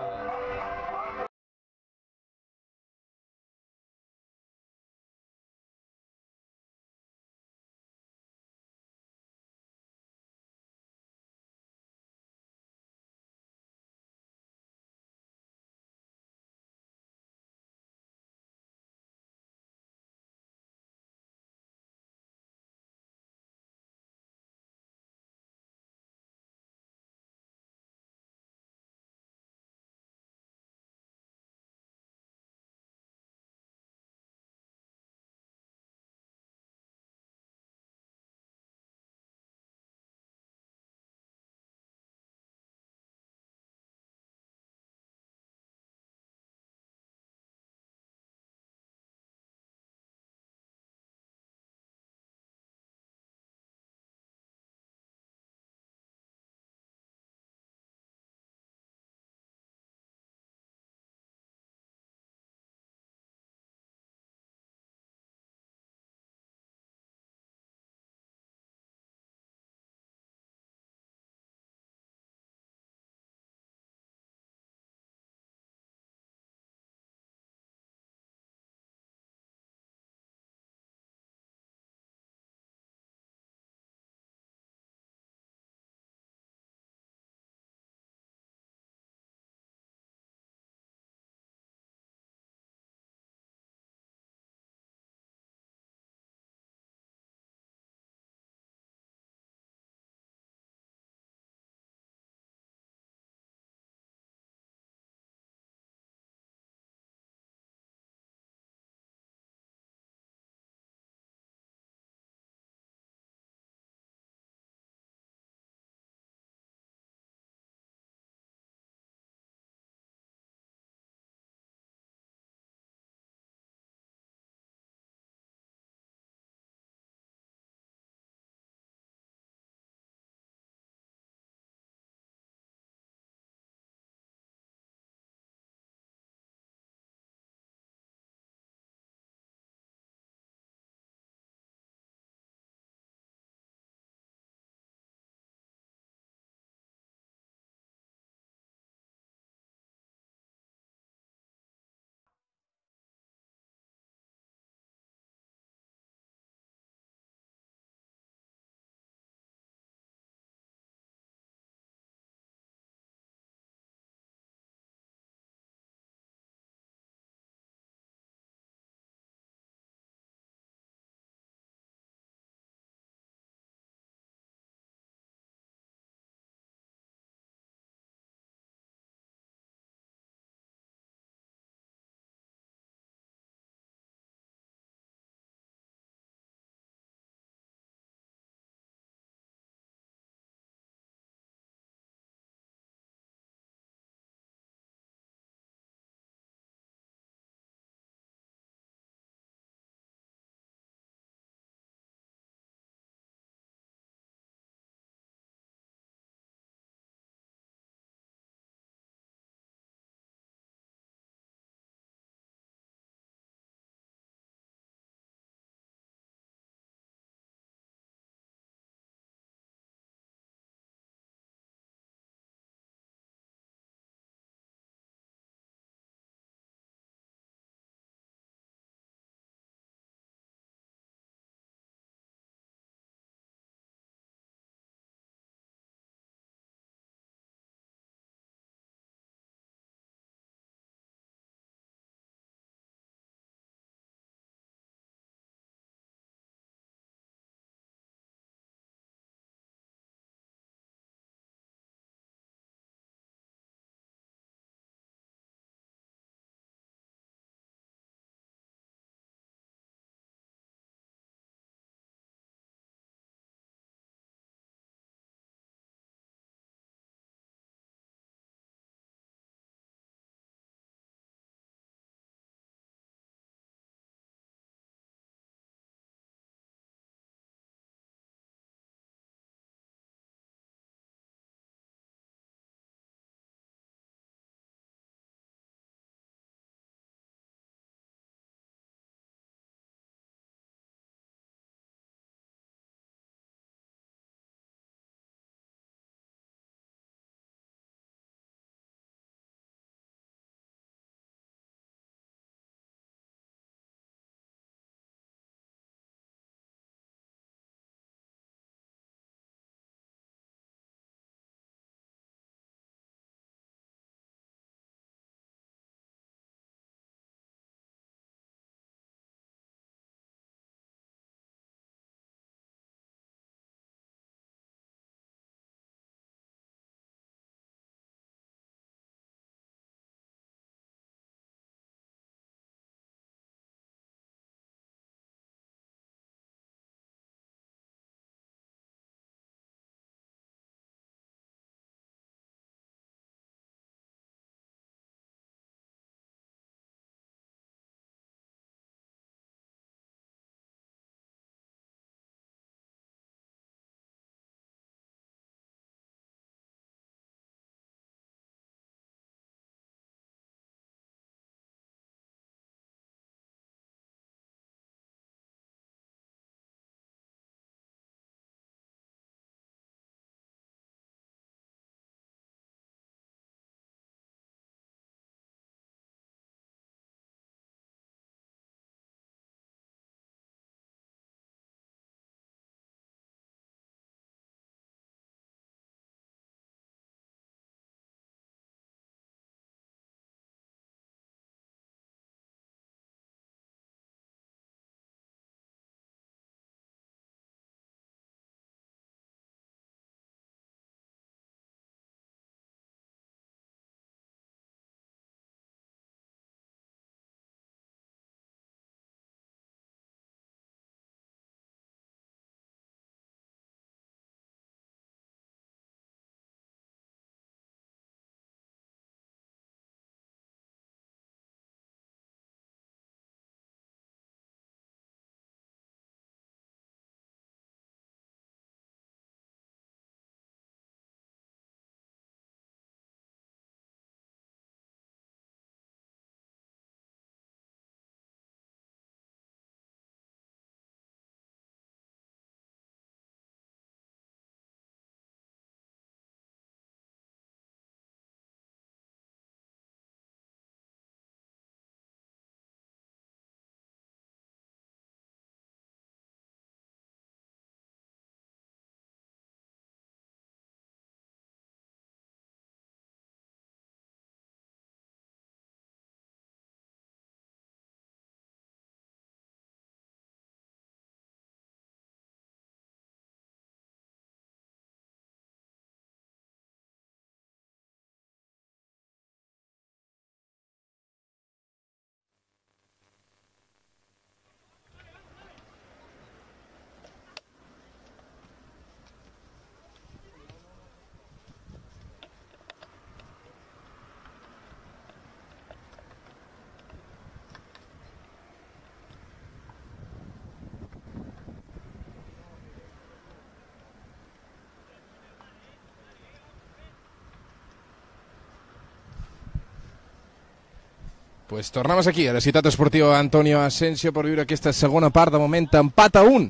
Pues tornem aquí, a la ciutat esportiva Antonio Asensio, per viure aquesta segona part. De moment empat a 1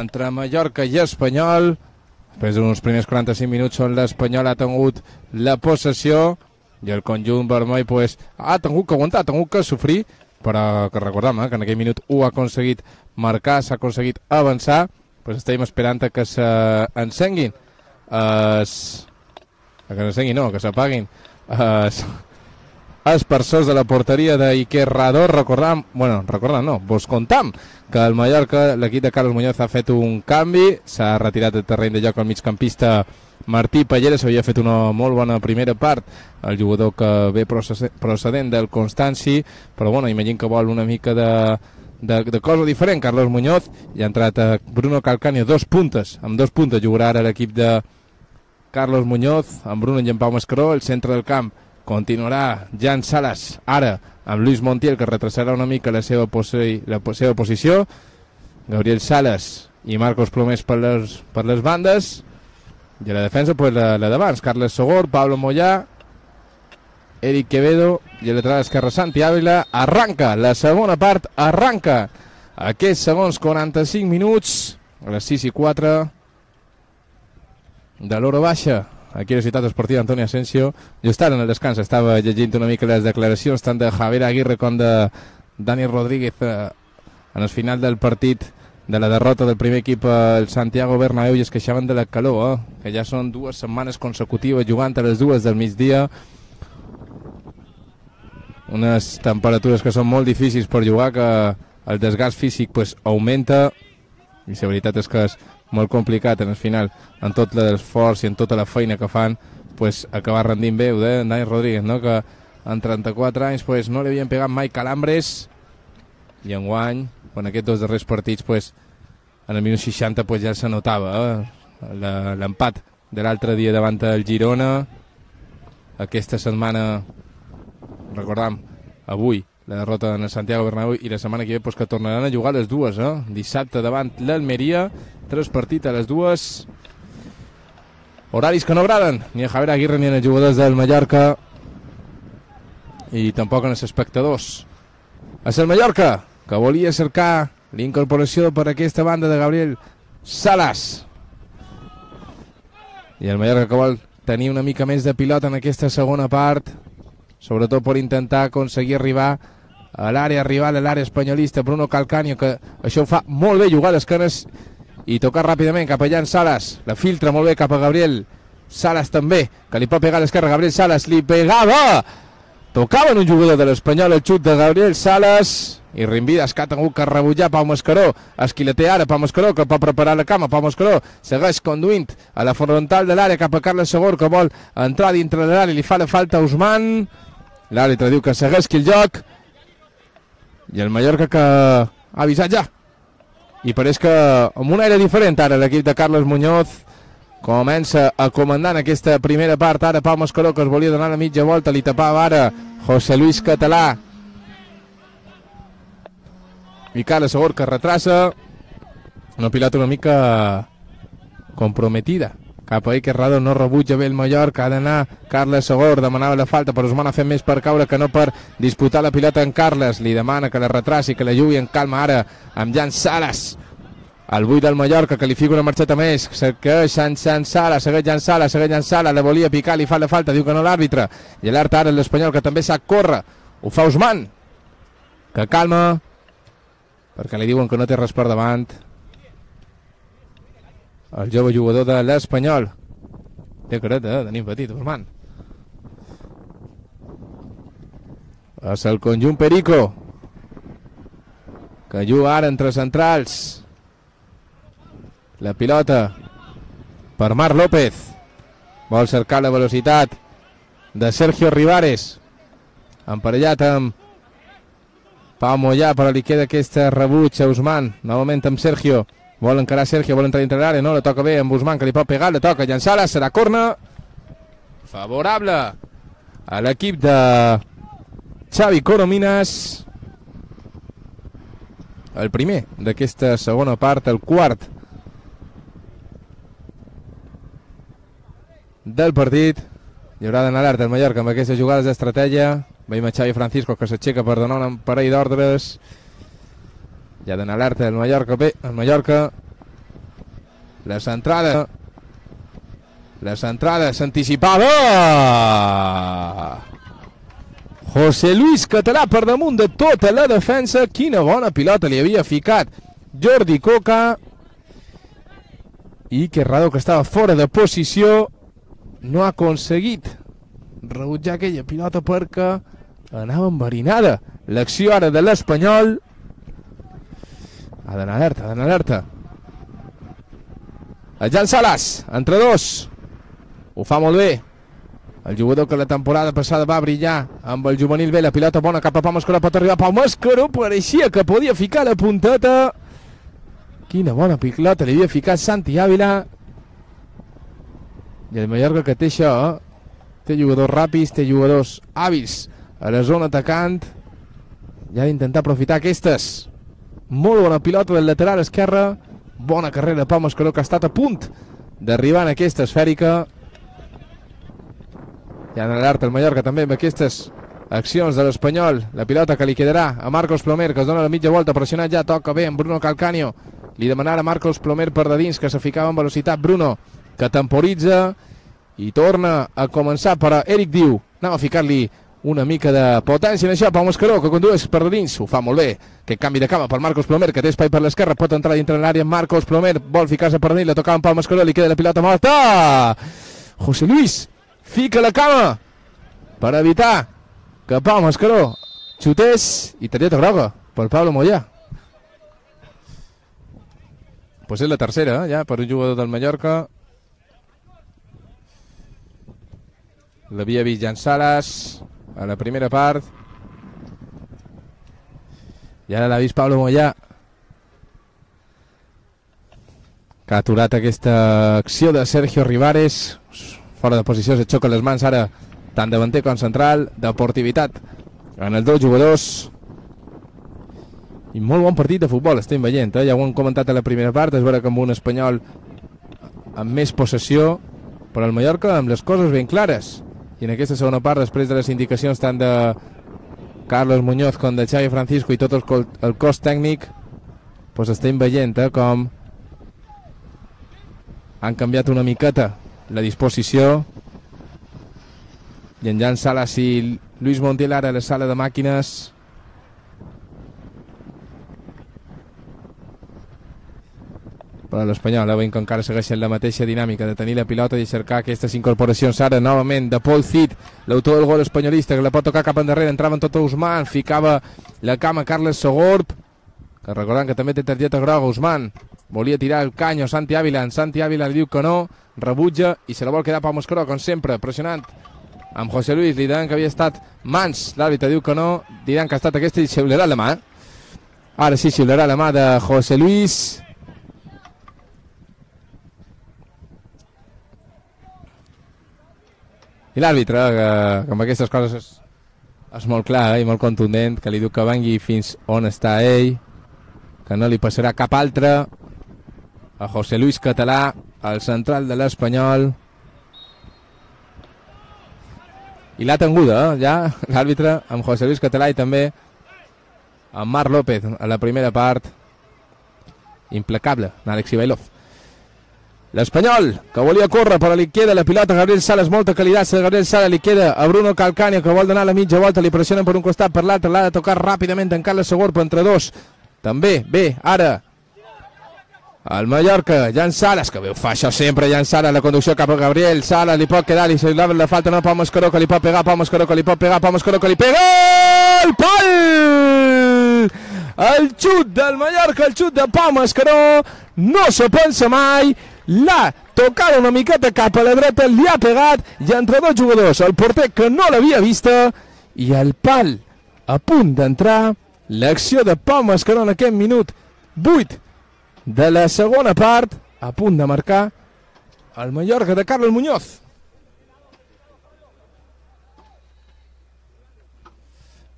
entre Mallorca i Espanyol. Després d'uns primers 45 minuts on l'Espanyol ha tingut la possessió i el conjunt vermell pues, ha tingut que aguantar, ha tingut que sofrir, però que recordem que en aquell minut ho ha aconseguit marcar, s'ha aconseguit avançar. Pues estem esperant que s'encenguin que s'apaguin els persons de la porteria d'Iker Rador. Vos contam que el Mallorca, l'equip de Carlos Muñoz, ha fet un canvi, s'ha retirat del terreny de joc el migcampista Martí Pallera. S'havia fet una molt bona primera part, el jugador que ve procedent del Constanci, però bueno, imagino que vol una mica de cosa diferent Carlos Muñoz, i ha entrat Bruno Calcaño, amb dos puntes jugarà ara l'equip de Carlos Muñoz, amb Bruno i en Pau Mascaró. El centre del camp continuarà Jan Salas, ara amb Luis Montiel, que retrasarà una mica la seva posició. Gabriel Salas i Marcos Plomés per les bandes, i a la defensa pues, la d'abans, Carles Sogor, Pablo Moyà, Eric Quevedo, i a lateral esquerra Santi Ávila. Arranca la segona part, arranca aquests segons 45 minuts a les 6:04 de l'hora baixa aquí a la ciutat esportiva Antonio Asensio. Jo estava en el descans, estava llegint una mica les declaracions tant de Javier Aguirre com de Dani Rodríguez en el final del partit de la derrota del primer equip al Santiago Bernabéu, i es queixaven de la calor, que ja són 2 setmanes consecutives jugant a les 2 del migdia, unes temperatures que són molt difícils per jugar, que el desgast físic pues, augmenta, i la veritat és que és molt complicat en el final, en tot l'esforç i en tota la feina que fan, pues, acabar rendint bé. Ho deia Dani Rodríguez, no? Que en 34 anys pues, no li havien pegat mai calambres, i enguany, en aquests 2 darrers partits, pues, en el minut 60 pues, ja se notava l'empat de l'altre dia davant del Girona. Aquesta setmana, recordam, avui la derrota en el Santiago Bernabéu, i la setmana que ve pues, que tornaran a jugar les 2, dissabte davant l'Almeria, 3 partits a les 2, horaris que no agraden ni a Javier Aguirre ni als jugadors del Mallorca, i tampoc als espectadors. És el Mallorca que volia cercar l'incorporació per aquesta banda de Gabriel Salas, i el Mallorca que vol tenir una mica més de pilota en aquesta segona part, sobretot per intentar aconseguir arribar a l'àrea rival, a l'àrea espanyolista. Bruno Calcaño, que això ho fa molt bé, jugar d'esquenes i tocar ràpidament cap a Jan Salas, la filtra molt bé cap a Gabriel Salas també, que li pot pegar a l'esquerra. Gabriel Salas li pegava, tocava en un jugador de l'Espanyol el xut de Gabriel Salas, i Rimbides, que ha tingut que rebutjar Pau Mascaró. Esquilater ara Pau Mascaró, que pot preparar la cama. Pau Mascaró segueix conduint a la frontal de l'àrea cap a Carles Sogor, que vol entrar dintre de l'àrea, li fa la falta a Usman. L'àrbitre diu que segueixi el joc, i el Mallorca que ha avisat ja, i pareix que amb un aire diferent ara l'equip de Carlos Muñoz comença a comandar en aquesta primera part. Ara Pau Mascaró, que es volia donar la mitja volta, li tapava ara José Luis Català, i Carles Sogor, que retrassa una pilota una mica comprometida cap a Iker Rador. No rebutja bé el Mallorca, ha d'anar Carles Sogor, demanava la falta, però Usman ha fet més per caure que no per disputar la pilota en Carles. Li demana que la retraci, que la jugui en calma ara amb Jan Salas, el 8 del Mallorca, que li fica una marxeta més, segueix Jan Salas, segueix Jan Salas, la volia picar, li fa la falta, diu que no l'àrbitre, i alerta ara l'Espanyol, que també sap córrer. Ho fa Usman, que calma, perquè li diuen que no té res per davant el jove jugador de l'Espanyol. Té careta, tenim petit, Usman. És el conjunt Perico, que juga ara entre centrals. La pilota per Marc López, vol cercar la velocitat de Sergio Rivares, emparellat amb Pau Moyà, però li queda aquesta rebuig a Usman, novament amb Sergio. Vol encarar Sergio, vol entrar dintre l'àrea, no, la toca bé amb Usman, que li pot pegar, la toca Jan Salas, serà corna favorable a l'equip de Xavi Coromines. El primer d'aquesta segona part, el quart del partit. Hi haurà d'anar alerta el Mallorca amb aquestes jugades d'estratègia. Veiem a Xavi Francisco que s'aixeca per donar un parell d'ordres. Ja d'anar alerta el Mallorca. Bé, el Mallorca. La centrada s'anticipava. José Luis Català per damunt de tota la defensa. Quina bona pilota li havia ficat Jordi Coca. I Querrado, que estava fora de posició, no ha aconseguit rebutjar aquella pilota perquè anava enverinada. L'acció ara de l'Espanyol. Ha d'anar alerta. El Jan Salas, entre dos. Ho fa molt bé. El jugador que la temporada passada va brillar amb el juvenil B. La pilota bona cap a Pau Mascaró. Pot arribar Pau Mascaró. Pareixia que podia ficar la punteta. Quina bona pilota li havia ficat Santi Ávila. I el Mallorca, que té això, té jugadors ràpids, té jugadors hàbils a la zona atacant, i ha d'intentar aprofitar aquestes. Molt bona pilota del lateral esquerre. Bona carrera de Pau Mascaró, que ha estat a punt d'arribar en aquesta esfèrica. Ja en alerta el Mallorca també amb aquestes accions de l'Espanyol. La pilota que li quedarà a Marcos Plomer, que es dona la mitja volta, pressionat ja, toca bé amb Bruno Calcaño. Li demanarà a Marcos Plomer per de dins, que se ficava en velocitat. Bruno, que temporitza i torna a començar per Eric Diu. Anava a ficar-li una mica de potència en això. Pau Mascaró, que condueix per de dins, ho fa molt bé. Aquest canvi de cama per Marcos Plomer, que té espai per l'esquerra, pot entrar dintre l'àrea. Marcos Plomer vol ficar-se per dins, la tocava amb Pau Mascaró, li queda la pilota morta. José Luis fica la cama per evitar que Pau Mascaró xutés, i targeta groga per Pablo Moyà. Pues és la tercera, ja, per un jugador del Mallorca. L'havia vist Jan Salas a la primera part. I ara l'ha vist Pablo Moyà, que ha aturat aquesta acció de Sergio Rivares. Fora de posició, se xoquen les mans ara, tant davanter com central. Deportivitat en els dos jugadors. I molt bon partit de futbol estem veient, ja ho hem comentat a la primera part. És vera que amb un Espanyol amb més possessió, però el Mallorca amb les coses ben clares. I en aquesta segona part, després de les indicacions tant de Carlos Muñoz com de Xavi Francisco i tot el cos tècnic, doncs estem veient com han canviat una miqueta la disposició. I en Jan Salas i Luis Montiel ara a la sala de màquines. Però l'Espanyol, veiem que encara segueixen la mateixa dinàmica de tenir la pilota i cercar aquestes incorporacions. Ara novament de Paul Cid, l'autor del gol espanyolista, que la pot tocar cap endarrere. Entrava en tot Ousmane, ficava la cama Carles Sogorb, que recordant que també té targeta groga. Ousmane volia tirar el canyo a Santi Ávila. En Santi Ávila li diu que no, rebutja i se la vol quedar Pau Mascaró, com sempre, pressionant amb José Luis. Li diran que havia estat mans, l'àrbitre diu que no, diran que ha estat aquesta i xiularà la mà. Ara sí, xiularà la mà de José Luis. I l'àrbitre, que amb aquestes coses és molt clar i molt contundent, que li diu que vengui fins on està ell, que no li passarà cap altre. A José Luis Català, el central de l'Espanyol. I l'ha tenguda, ja, l'àrbitre, amb José Luis Català i també amb Marc López a la primera part. Implacable, Alexi Bailov. L'Espanyol, que volia córrer, però li queda la pilota a Gabriel Salas, molta qualitat de Gabriel Salas, li queda a Bruno Calcaño, que vol donar la mitja volta, li pressionen per un costat, per l'altre, l'ha de tocar ràpidament en Carles Sogorb, entre dos, també, bé, ara, el Mallorca, Jan Salas, que bé ho fa això sempre, Jan Salas, la conducció cap a Gabriel Salas, li pot quedar, li s'agrada la falta, no, Pau Mascaró, que li pot pegar, Pau Mascaró, que li pot pegar, Pau Mascaró, que li pega, el pal! El xut del Mallorca, el xut de Pau Mascaró, no se pensa mai, l'ha tocat una miqueta cap a la dreta, li ha pegat, i entre dos jugadors, el porter que no l'havia vista, i el pal a punt d'entrar. L'acció de Pau Mascaró en aquest minut 8 de la segona part, a punt de marcar el Mallorca de Carlos Muñoz.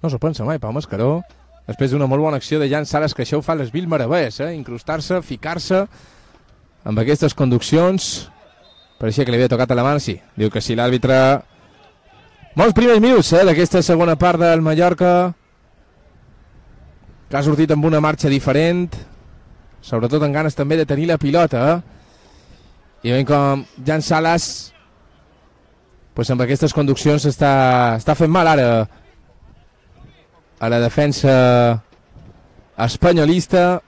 No s'ho pensa mai, Pau Mascaró, després d'una molt bona acció de Jan Salas, que això ho fa les vil meravelles, incrustar-se, ficar-se amb aquestes conduccions. Pareixia que li havia tocat a la mà, sí. Diu que sí, l'àrbitre Molts primers minuts d'aquesta segona part del Mallorca, que ha sortit amb una marxa diferent, sobretot amb ganes també de tenir la pilota. I veiem com Jan Salas, pues amb aquestes conduccions està fent mal ara a la defensa espanyolista.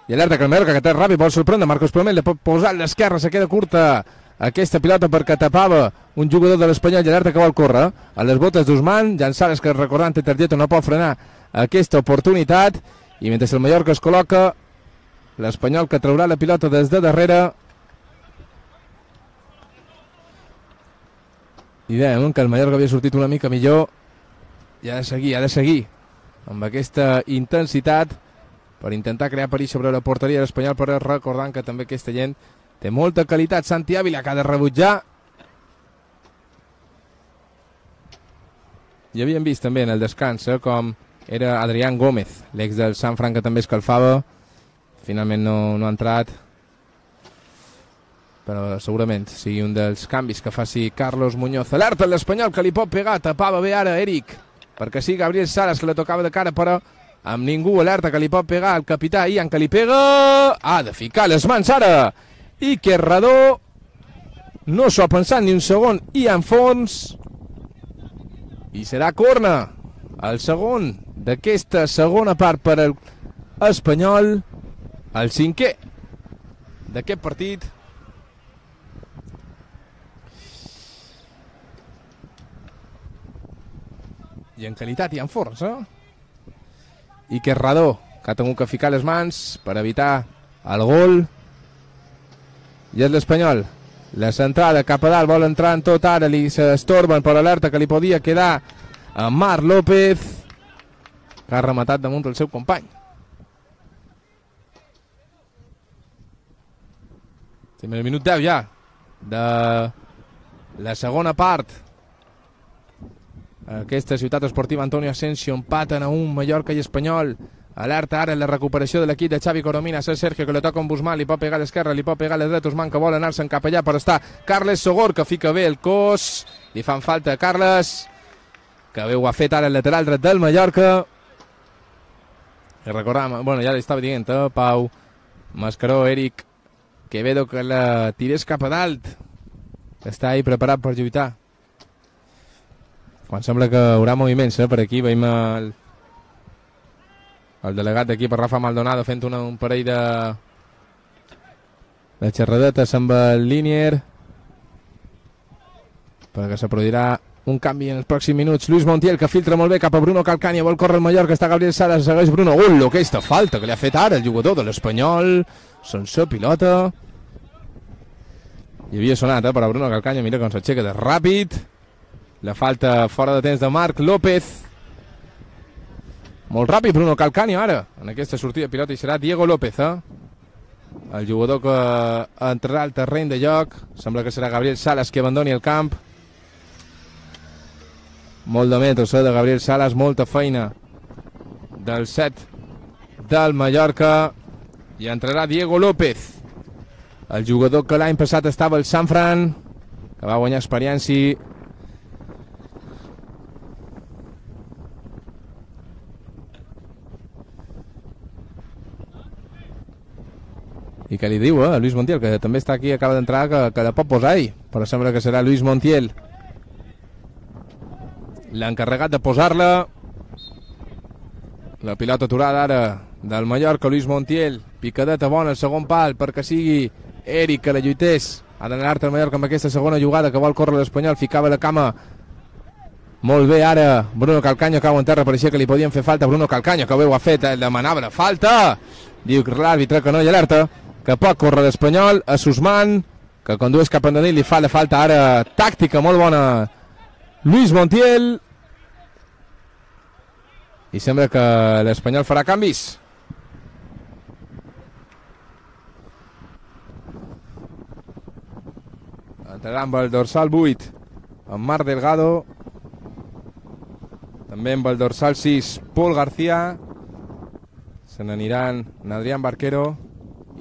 I alerta que el Mallorca, que té ràpid, vol sorprendre Marcos Promel, li pot posar a l'esquerra, se queda curta aquesta pilota perquè tapava un jugador de l'Espanyol, i alerta que vol córrer a les botes d'Usman. Jan Salas, que recordant té targeta, no pot frenar aquesta oportunitat, i mentre el Mallorca es col·loca, l'Espanyol que traurà la pilota des de darrere. I dèiem que el Mallorca havia sortit una mica millor, i ha de seguir amb aquesta intensitat per intentar crear perill sobre la porteria de l'Espanyol, però recordant que també aquesta gent té molta qualitat. Santi Ávila, que ha de rebutjar. I havíem vist també en el descans com era Adrián Gómez, l'ex del Sant Fran, que també escalfava. Finalment no ha entrat, però segurament sigui un dels canvis que faci Carlos Muñoz. Alerta l'Espanyol, que li pot pegar, tapava bé ara Eric, perquè sí, Gabriel Salas, que la tocava de cara, però amb ningú. Alerta que li pot pegar el capità Ian, que li pega, ha de ficar les mans ara Iker Radó, no s'ho ha pensat ni un segon Ian Fons, i serà corna, el segon d'aquesta segona part per al Espanyol, el 5è d'aquest partit. I en qualitat i en força. Iker Radó, que ha tingut que ficar les mans per evitar el gol. I és l'Espanyol. La centrada cap a dalt, vol entrar en tot ara, li s'estorben per alerta que li podia quedar a Marc López, que ha rematat damunt el seu company. Estem al minut 10 ja de la segona part. Aquesta ciutat esportiva Antonio Asensio, empaten a un Mallorca i Espanyol. Alerta ara en la recuperació de l'equip de Xavi Coromines. És Sergio, que li toca amb Busman, li pot pegar a l'esquerra, li pot pegar a la dreta. Usman, que vol anar-se'n cap allà, però està Carles Sogor, que fica bé el cos. Li fan falta a Carles, que bé ho ha fet ara el lateral dret del Mallorca. I recordam, bueno, ja li estava dient, Pau Mascaró, Eric Quevedo, que la tirés cap a dalt, que està ahí preparat per lluitar. Quan sembla que hi haurà moviments per aquí, veiem el delegat d'aquí, per Rafa Maldonado, fent un parell de xerradetes amb el Linier, perquè se produirà un canvi en els pròxims minuts. Luis Montiel, que filtra molt bé cap a Bruno Calcaño, vol córrer el Mallorca, està Gabriel Salas, segueix Bruno. Aquesta falta que li ha fet ara el jugador de l'Espanyol sense pilota. I havia sonat per a Bruno Calcaño, mira com s'aixeca de ràpid. La falta fora de temps de Marc López. Molt ràpid Bruno Calcaño ara en aquesta sortida de pilota, i serà Diego López, el jugador que entrarà al terreny de joc. Sembla que serà Gabriel Salas qui abandoni el camp. Molt de metres de Gabriel Salas, molta feina del set del Mallorca, i entrarà Diego López, el jugador que l'any passat estava al Sant Fran, que va guanyar experiència. I que li diu a Luis Montiel, que també està aquí, acaba d'entrar, que la pot posar ell, però sembla que serà Luis Montiel l'encarregat de posar-la. La pilota aturada ara del Mallorca, Luis Montiel, picadeta bona al segon pal perquè sigui Eric que la lluités. Ha d'anar-te el Mallorca amb aquesta segona jugada, que vol córrer l'Espanyol, ficava la cama molt bé ara Bruno Calcaño, cau en terra, pareixia que li podien fer falta. Bruno Calcaño, que bé ho ha fet, demanava la falta, diu l'àrbitre que no, i alerta que pot córrer l'Espanyol. A Susman, que condueix cap endavant, li fa la falta ara tàctica molt bona Luis Montiel, i sembla que l'Espanyol farà canvis. Entrarà amb el dorsal 8 amb Marc Delgado, també amb el dorsal 6 Pol García, se n'aniran Adrián Barquero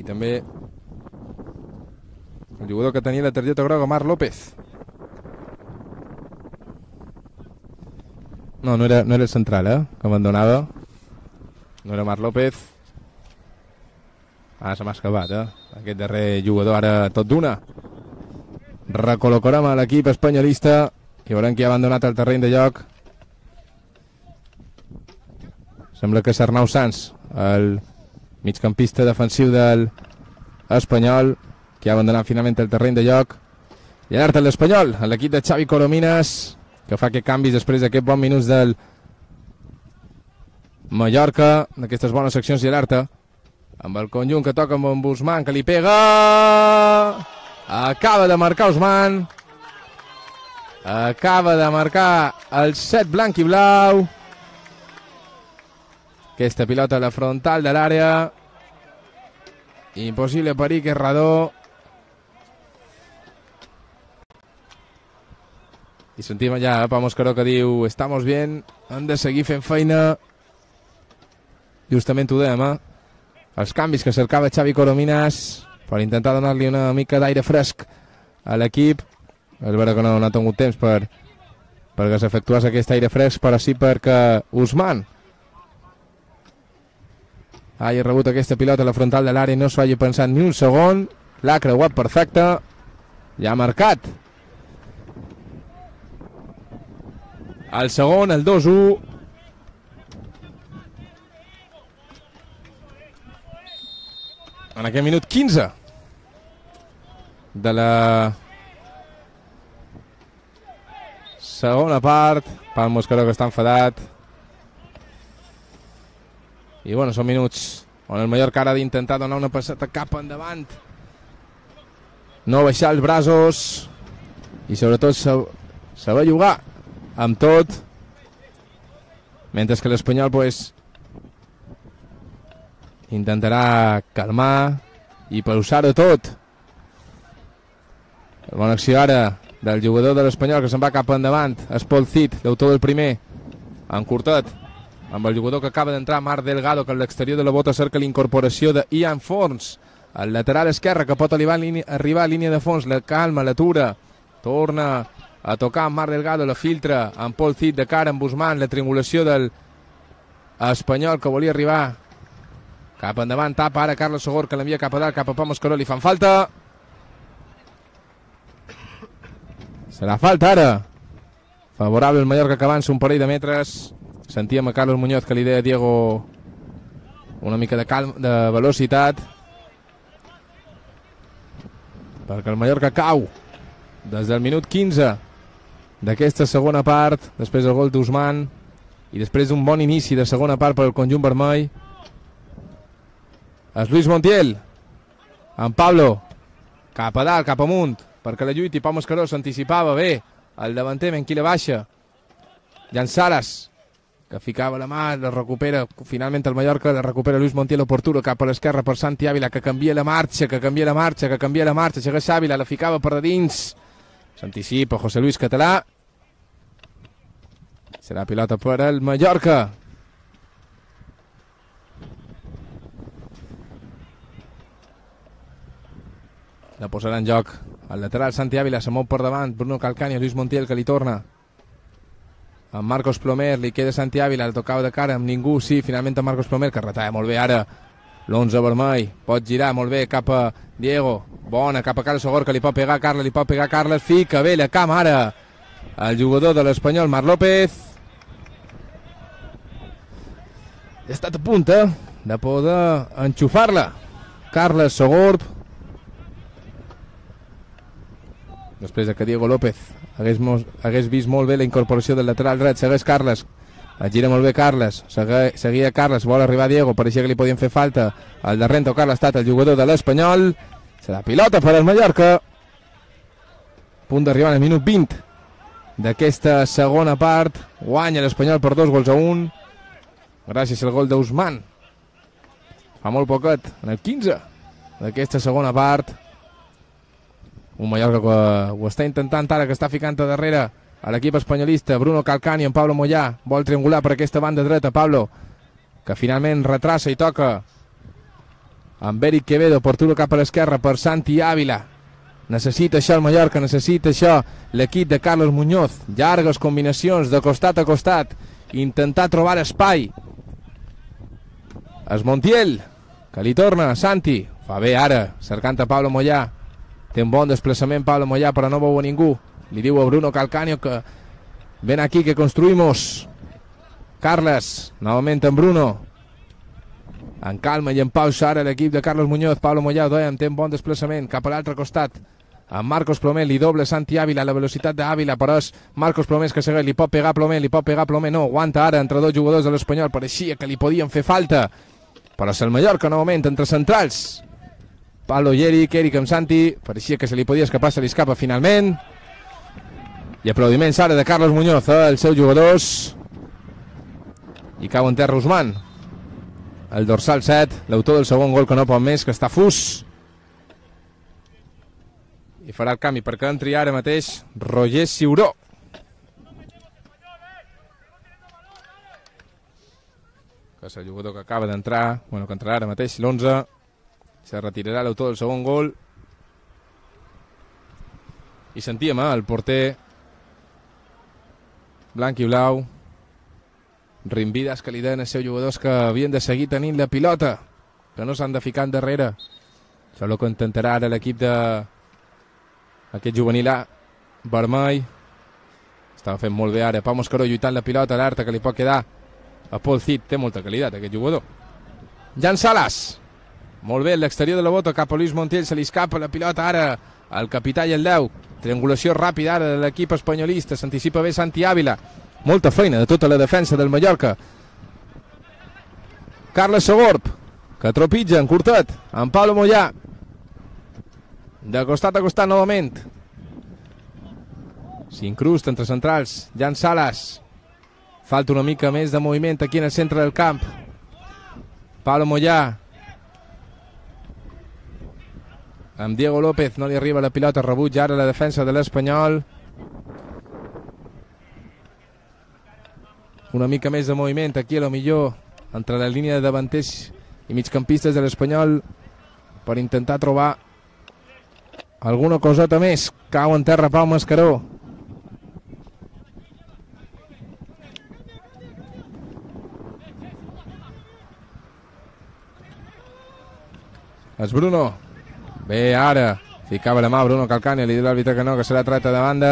i també el jugador que tenia la targeta groga, Marc López. No era el central, que abandonava. No era Marc López. Ara se m'ha escapat, aquest darrer jugador, ara tot d'una. Recol·locarem a l'equip espanyolista i veurem qui ha abandonat el terreny de joc. Sembla que és Arnau Sans, el migcampista defensiu del Espanyol, que ha abandonat finalment el terreny de joc. I alerta l'Espanyol, l'equip de Xavi Coromines, que fa aquest canvis després d'aquest bon minuts del Mallorca, d'aquestes bones seccions i alerta. Amb el conjunt que toca amb Ousmane, que li pega. Acaba de marcar Ousmane. Acaba de marcar el set blanc i blau. Aquesta pilota a la frontal de l'àrea. Impossible perill, que és Radó. I sentim allà Pau Moscaró que diu: estamos bien, hem de seguir fent feina. Justament ho dèiem, els canvis que cercava Xavi Coromines per intentar donar-li una mica d'aire fresc a l'equip. És vera que no ha tingut temps perquè s'efectués aquest aire fresc, però sí perquè Ousmane hagi rebut aquesta pilota a la frontal de l'àrea i no s'ho hagi pensat ni un segon. L'ha creuat perfecte i ha marcat el segon, el 2-1. En aquest minut 15 de la segona part. Pau Moscaró, que està enfadat. I bueno, són minuts on el Mallorca ara ha d'intentar donar una passeta cap endavant, no baixar els braços i sobretot saber jugar amb tot, mentre que l'Espanyol intentarà calmar i pausar-ho tot. Bona acció ara del jugador de l'Espanyol, que se'n va cap endavant. És Pol Cid, l'autor del primer, en curtet, amb el jugador que acaba d'entrar, Marc Delgado, que a l'exterior de la bota cerca l'incorporació d'Ian Forns, el lateral esquerre, que pot arribar a línia de fons, la calma, l'atura, torna a tocar amb Marc Delgado, la filtra amb Pol Cid de cara amb Ousmane, la triangulació del Espanyol que volia arribar cap endavant, tapa ara Carles Sogor, que l'envia cap a dalt, cap a Pau Moscaró, li fan falta. Serà falta ara. Favorable el Mallorca, que avança un parell de metres. Sentíem a Carlos Muñoz que li deia a Diego una mica de calma, de velocitat, perquè el Mallorca cau des del minut 15 d'aquesta segona part, després del gol d'Ousmane i després d'un bon inici de segona part per al conjunt vermell. És Luis Montiel amb Pablo cap a dalt, cap amunt, perquè la lluita, i Pau Moscaró s'anticipava bé el davanter, en qui la baixa Jan Saras, que ficava la mà, la recupera finalment el Mallorca, la recupera Luis Montiel oportuno cap a l'esquerra per Santi Ávila, que canvia la marxa, segueix Ávila, la ficava per de dins, s'anticipa José Luis Català, serà pilota per el Mallorca. La posarà en joc el lateral Santi Ávila, se mou per davant Bruno Calcani, Luis Montiel, que li torna amb Marcos Plomer, li queda Santi Ávila, el tocava de cara amb ningú, sí, finalment amb Marcos Plomer, que retalla molt bé ara l'11 vermell, pot girar molt bé cap a Diego, bona, cap a Carles Sogor, que li pot pegar Carles, fica bé la cama ara el jugador de l'Espanyol, Marc López. Ha estat a punt de poder enxufar-la Carles Sogor, després que Diego López hagués vist molt bé la incorporació del lateral dret. Segueix Carles, es gira molt bé Carles, seguia Carles, vol arribar Diego, pareixia que li podien fer falta al darrere tocar ha estat el jugador de l'Espanyol. Serà pilota per al Mallorca, punt d'arribar al minut 20 d'aquesta segona part. Guanya l'Espanyol per 2-1 gràcies al gol d'Ousmane fa molt poquet, en el 15 d'aquesta segona part. Un Mallorca que ho està intentant ara, que està ficant a darrere a l'equip espanyolista. Bruno Calcani amb Pablo Moyà, vol triangular per aquesta banda dreta. Pablo, que finalment retrassa i toca amb Eric Quevedo, portura cap a l'esquerra per Santi Ávila. Necessita això el Mallorca, necessita això l'equip de Carlos Muñoz. Llargues combinacions de costat a costat. Intentar trobar espai. Es Montiel, que li torna, Santi. Fa bé ara, cercant a Pablo Moyà. Té un bon desplaçament Pablo Moyà, però no veu a ningú. Li diu a Bruno Calcaño que ven aquí que construïmos. Carles, novament en Bruno. En calma i en pausa ara l'equip de Carlos Muñoz. Pablo Moyà, dèiem, té un bon desplaçament cap a l'altre costat. En Marcos Plomer li doble Santi Ávila, la velocitat d'Ávila, però és Marcos Plomer que segueix, li pot pegar Plomer, no, aguanta ara entre dos jugadors de l'Espanyol, pareixia que li podien fer falta, però és el Mallorca novament entre centrals. Pablo i Eric amb Santi, pareixia que se li podia escapar, se li escapa finalment. I aplaudiments ara de Carlos Muñoz, els seus jugadors. I cau en terra Usman, el dorsal 7, l'autor del segon gol que no pot més, que està fus. I farà el canvi perquè entri ara mateix Roger Ciuró. Que és el jugador que acaba d'entrar, bueno, que entrarà ara mateix l'11. Se retirarà l'autor del segon gol. I sentíem el porter blanc i blau rimbides que li deien els seus jugadors que havien de seguir tenint la pilota, que no s'han de ficar endarrere. Això és el que intentarà ara l'equip de aquest juvenil A vermell. Estava fent molt bé ara Pau Mascaró lluitant la pilota, l'Arta que li pot quedar a Paul Cid. Té molta qualitat aquest jugador. Jan Salas, molt bé, l'exterior de la bota cap a Luis Montiel, se li escapa la pilota ara al capità i el 10. Triangulació ràpida ara de l'equip espanyolista, s'anticipa bé Santi Ávila. Molta feina de tota la defensa del Mallorca. Carles Sogorb, que tropitja en curtet amb Pablo Moyà. De costat a costat novament. S'incrusta entre centrals Jan Salas. Falta una mica més de moviment aquí en el centre del camp. Pablo Moyà. Amb Diego López no li arriba la pilota, rebutja ara la defensa de l'Espanyol. Una mica més de moviment aquí a lo millor entre la línia de davanters i migcampistes de l'Espanyol per intentar trobar alguna coseta més. Cau en terra Pau Mascaró. És Bruno. Bé, ara ficava la mà Bruno Calcaño, li diu l'àrbitre que no, que serà treta de banda.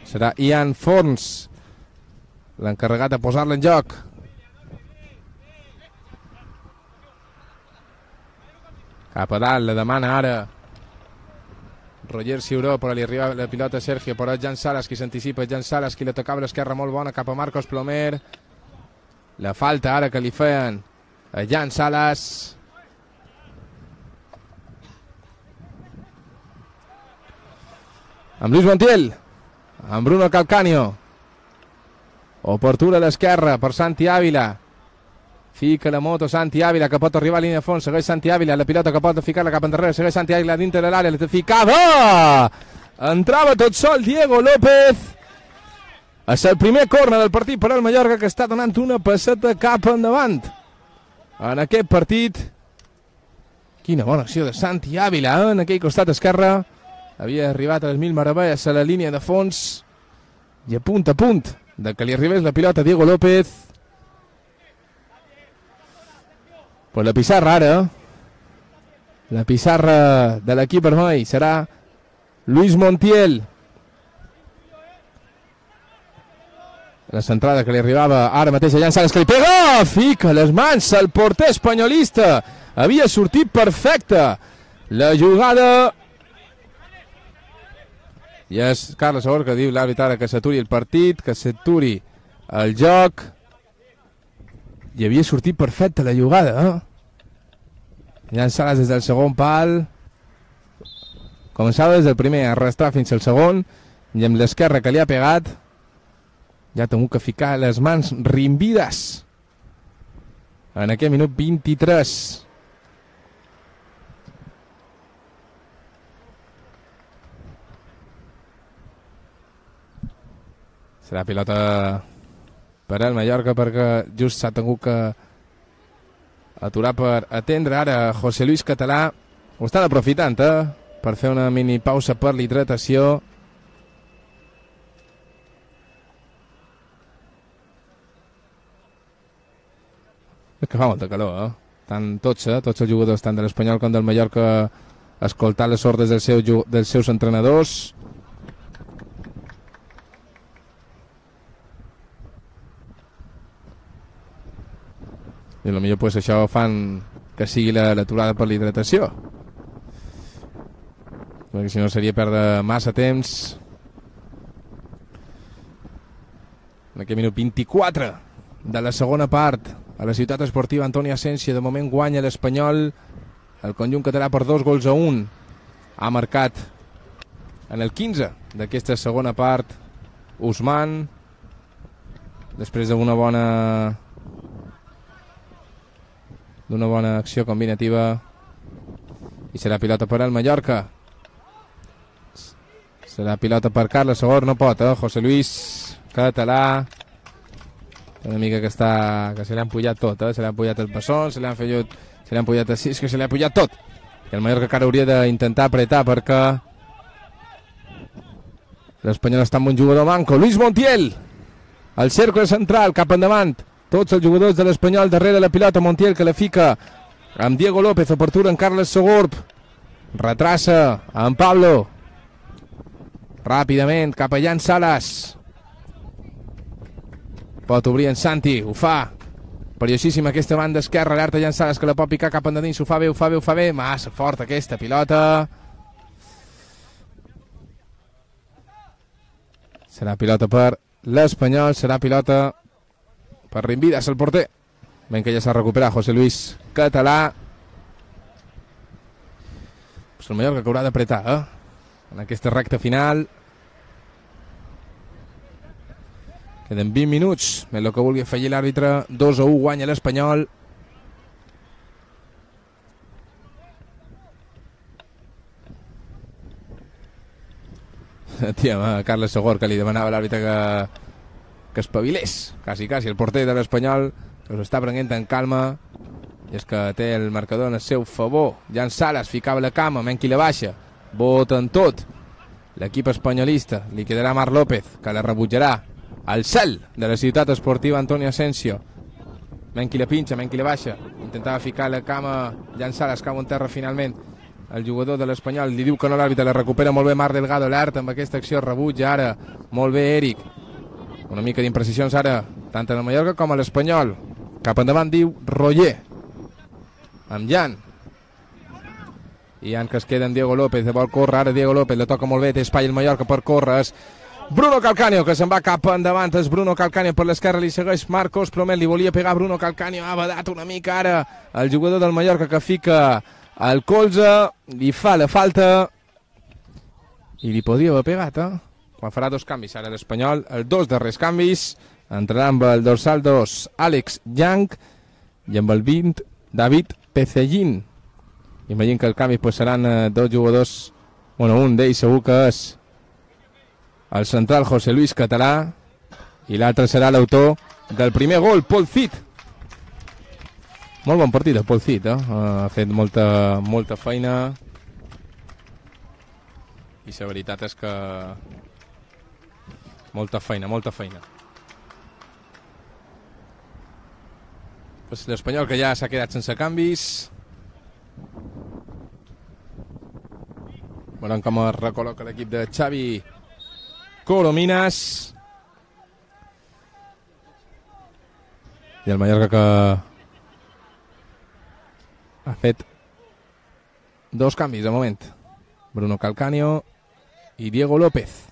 Serà Ian Forns l'encarregat de posar-la en joc. Cap a dalt, la demana ara Roger Ciuró, però li arriba la pilota a Sergio, però és Jan Salas qui s'anticipa, Jan Salas qui la tocava a l'esquerra molt bona cap a Marcos Plomer. La falta ara que li feien a Jan Salas. Amb Luis Montiel, amb Bruno Calcaño. Oportuna a l'esquerra per Santi Ávila. Fica la moto Santi Ávila, que pot arribar a línia de fons. Segueix Santi Ávila, la pilota que pot ficar-la cap endarrere. Segueix Santi Ávila dintre de l'àrea, la ficava! Entrava tot sol Diego López. És el primer córner del partit per al Mallorca, que està donant una passeta cap endavant en aquest partit. Quina bona acció de Santi Ávila en aquell costat esquerre. Havia arribat a les 1000 meravelles a la línia de fons i a punt de que li arribés la pilota a Diego López. Pues la pissarra ara, la pissarra de l'equip vermell serà Luis Montiel. La centrada que li arribava ara mateix a Jan Salas, que li pega, fica les mans al porter espanyolista. Havia sortit perfecta la jugada. I és Carles Sogorb que diu l'àrbitre ara que s'aturi el partit, que s'aturi el joc. I havia sortit perfecta la jugada, Jan Salas des del segon pal. Començava des del primer a arrastrar fins al segon, i amb l'esquerra que li ha pegat ja ha tingut que ficar les mans rimbides en aquest minut 23. Serà pilota per al Mallorca perquè just s'ha tingut que aturar per atendre ara José Luis Català. Ho estan aprofitant, per fer una mini pausa per l'hidratació. És que fa molta calor, tots els jugadors, tant de l'Espanyol com del Mallorca, escoltar les ordres dels seus entrenadors. I potser pues, això fan que sigui l'aturada per l'hidratació, perquè si no seria perdre massa temps. En aquest minut 24 de la segona part, a la ciutat esportiva Antoni Asensio, de moment guanya l'Espanyol, el conjunt català, per 2-1. Ha marcat en el 15 d'aquesta segona part Ousmane, després d'una bona acció combinativa, i serà pilota per al Mallorca. Serà pilota per Carles Segor, no pot, José Luis, català, una mica que se l'ha empullat tot, se l'ha empullat el passó, se l'ha empullat així, és que se l'ha empullat tot. I el Mallorca encara hauria d'intentar apretar, perquè l'Espanyol està amb un jugador manco. Luis Montiel, al cercle central, cap endavant, tots els jugadors de l'Espanyol darrere la pilota. Montiel que la fica amb Diego López, oportuna en Carles Segorb, retrassa en Pablo, ràpidament cap a Jan Salas, pot obrir en Santi, ho fa perillosíssima aquesta banda esquerra, alerta Jan Salas que la pot picar cap endins, ho fa bé, massa forta aquesta pilota. Serà pilota per l'Espanyol, serà pilota per Rimbidas, el porter. Ben que ja s'ha recuperat José Luis, català. Pues el Mallorca que haurà d'apretar, en aquesta recta final. Queden 20 minuts, més el que vulgui afegir l'àrbitre. 2-1 guanya l'Espanyol. Tia, Carles Segor, que li demanava l'àrbitre que espavilés, quasi, el porter de l'Espanyol, que s'està prenent en calma, i és que té el marcador en el seu favor. Jan Salas ficava la cama, menys qui la baixa, voten tot l'equip espanyolista, li quedarà Marc López, que la rebutjarà al cel de la ciutat esportiva Antoni Asensio. Menys qui la pinxa, menys qui la baixa, intentava ficar la cama Jan Salas, cau en terra finalment el jugador de l'Espanyol, li diu que no, l'àrbitre la recupera molt bé Marc Delgado, l'art amb aquesta acció, rebutja ara molt bé Eric, una mica d'imprecisions ara tant en el Mallorca com a l'Espanyol. Cap endavant diu Roger amb Jan, i Jan que es queda amb Diego López, vol córrer ara Diego López, la toca molt bé, té espai el Mallorca per córrer, és Bruno Calcaño que se'n va cap endavant, és Bruno Calcaño per l'esquerra, li segueix Marcos Plomer, li volia pegar Bruno Calcaño, ha badat una mica ara el jugador del Mallorca que fica el colze, li fa la falta i li podria haver pegat, quan farà dos canvis ara l'Espanyol, els dos darrers canvis, entrarà amb el dorsal 2 Àlex Young i amb el 20 David Pecellín. Imagino que el canvi pues, seran dos jugadors, bueno, un d'ells segur que és el central José Luis Català i l'altre serà l'autor del primer gol, Paul Cid. Molt bon partit el Paul Cid, ha fet molta feina i la veritat és que molta feina. Pues l'Espanyol que ja s'ha quedat sense canvis. Veurem com es recol·loca l'equip de Xavi Corominas. I el Mallorca que ha fet dos canvis de moment. Bruno Calcaño i Diego López.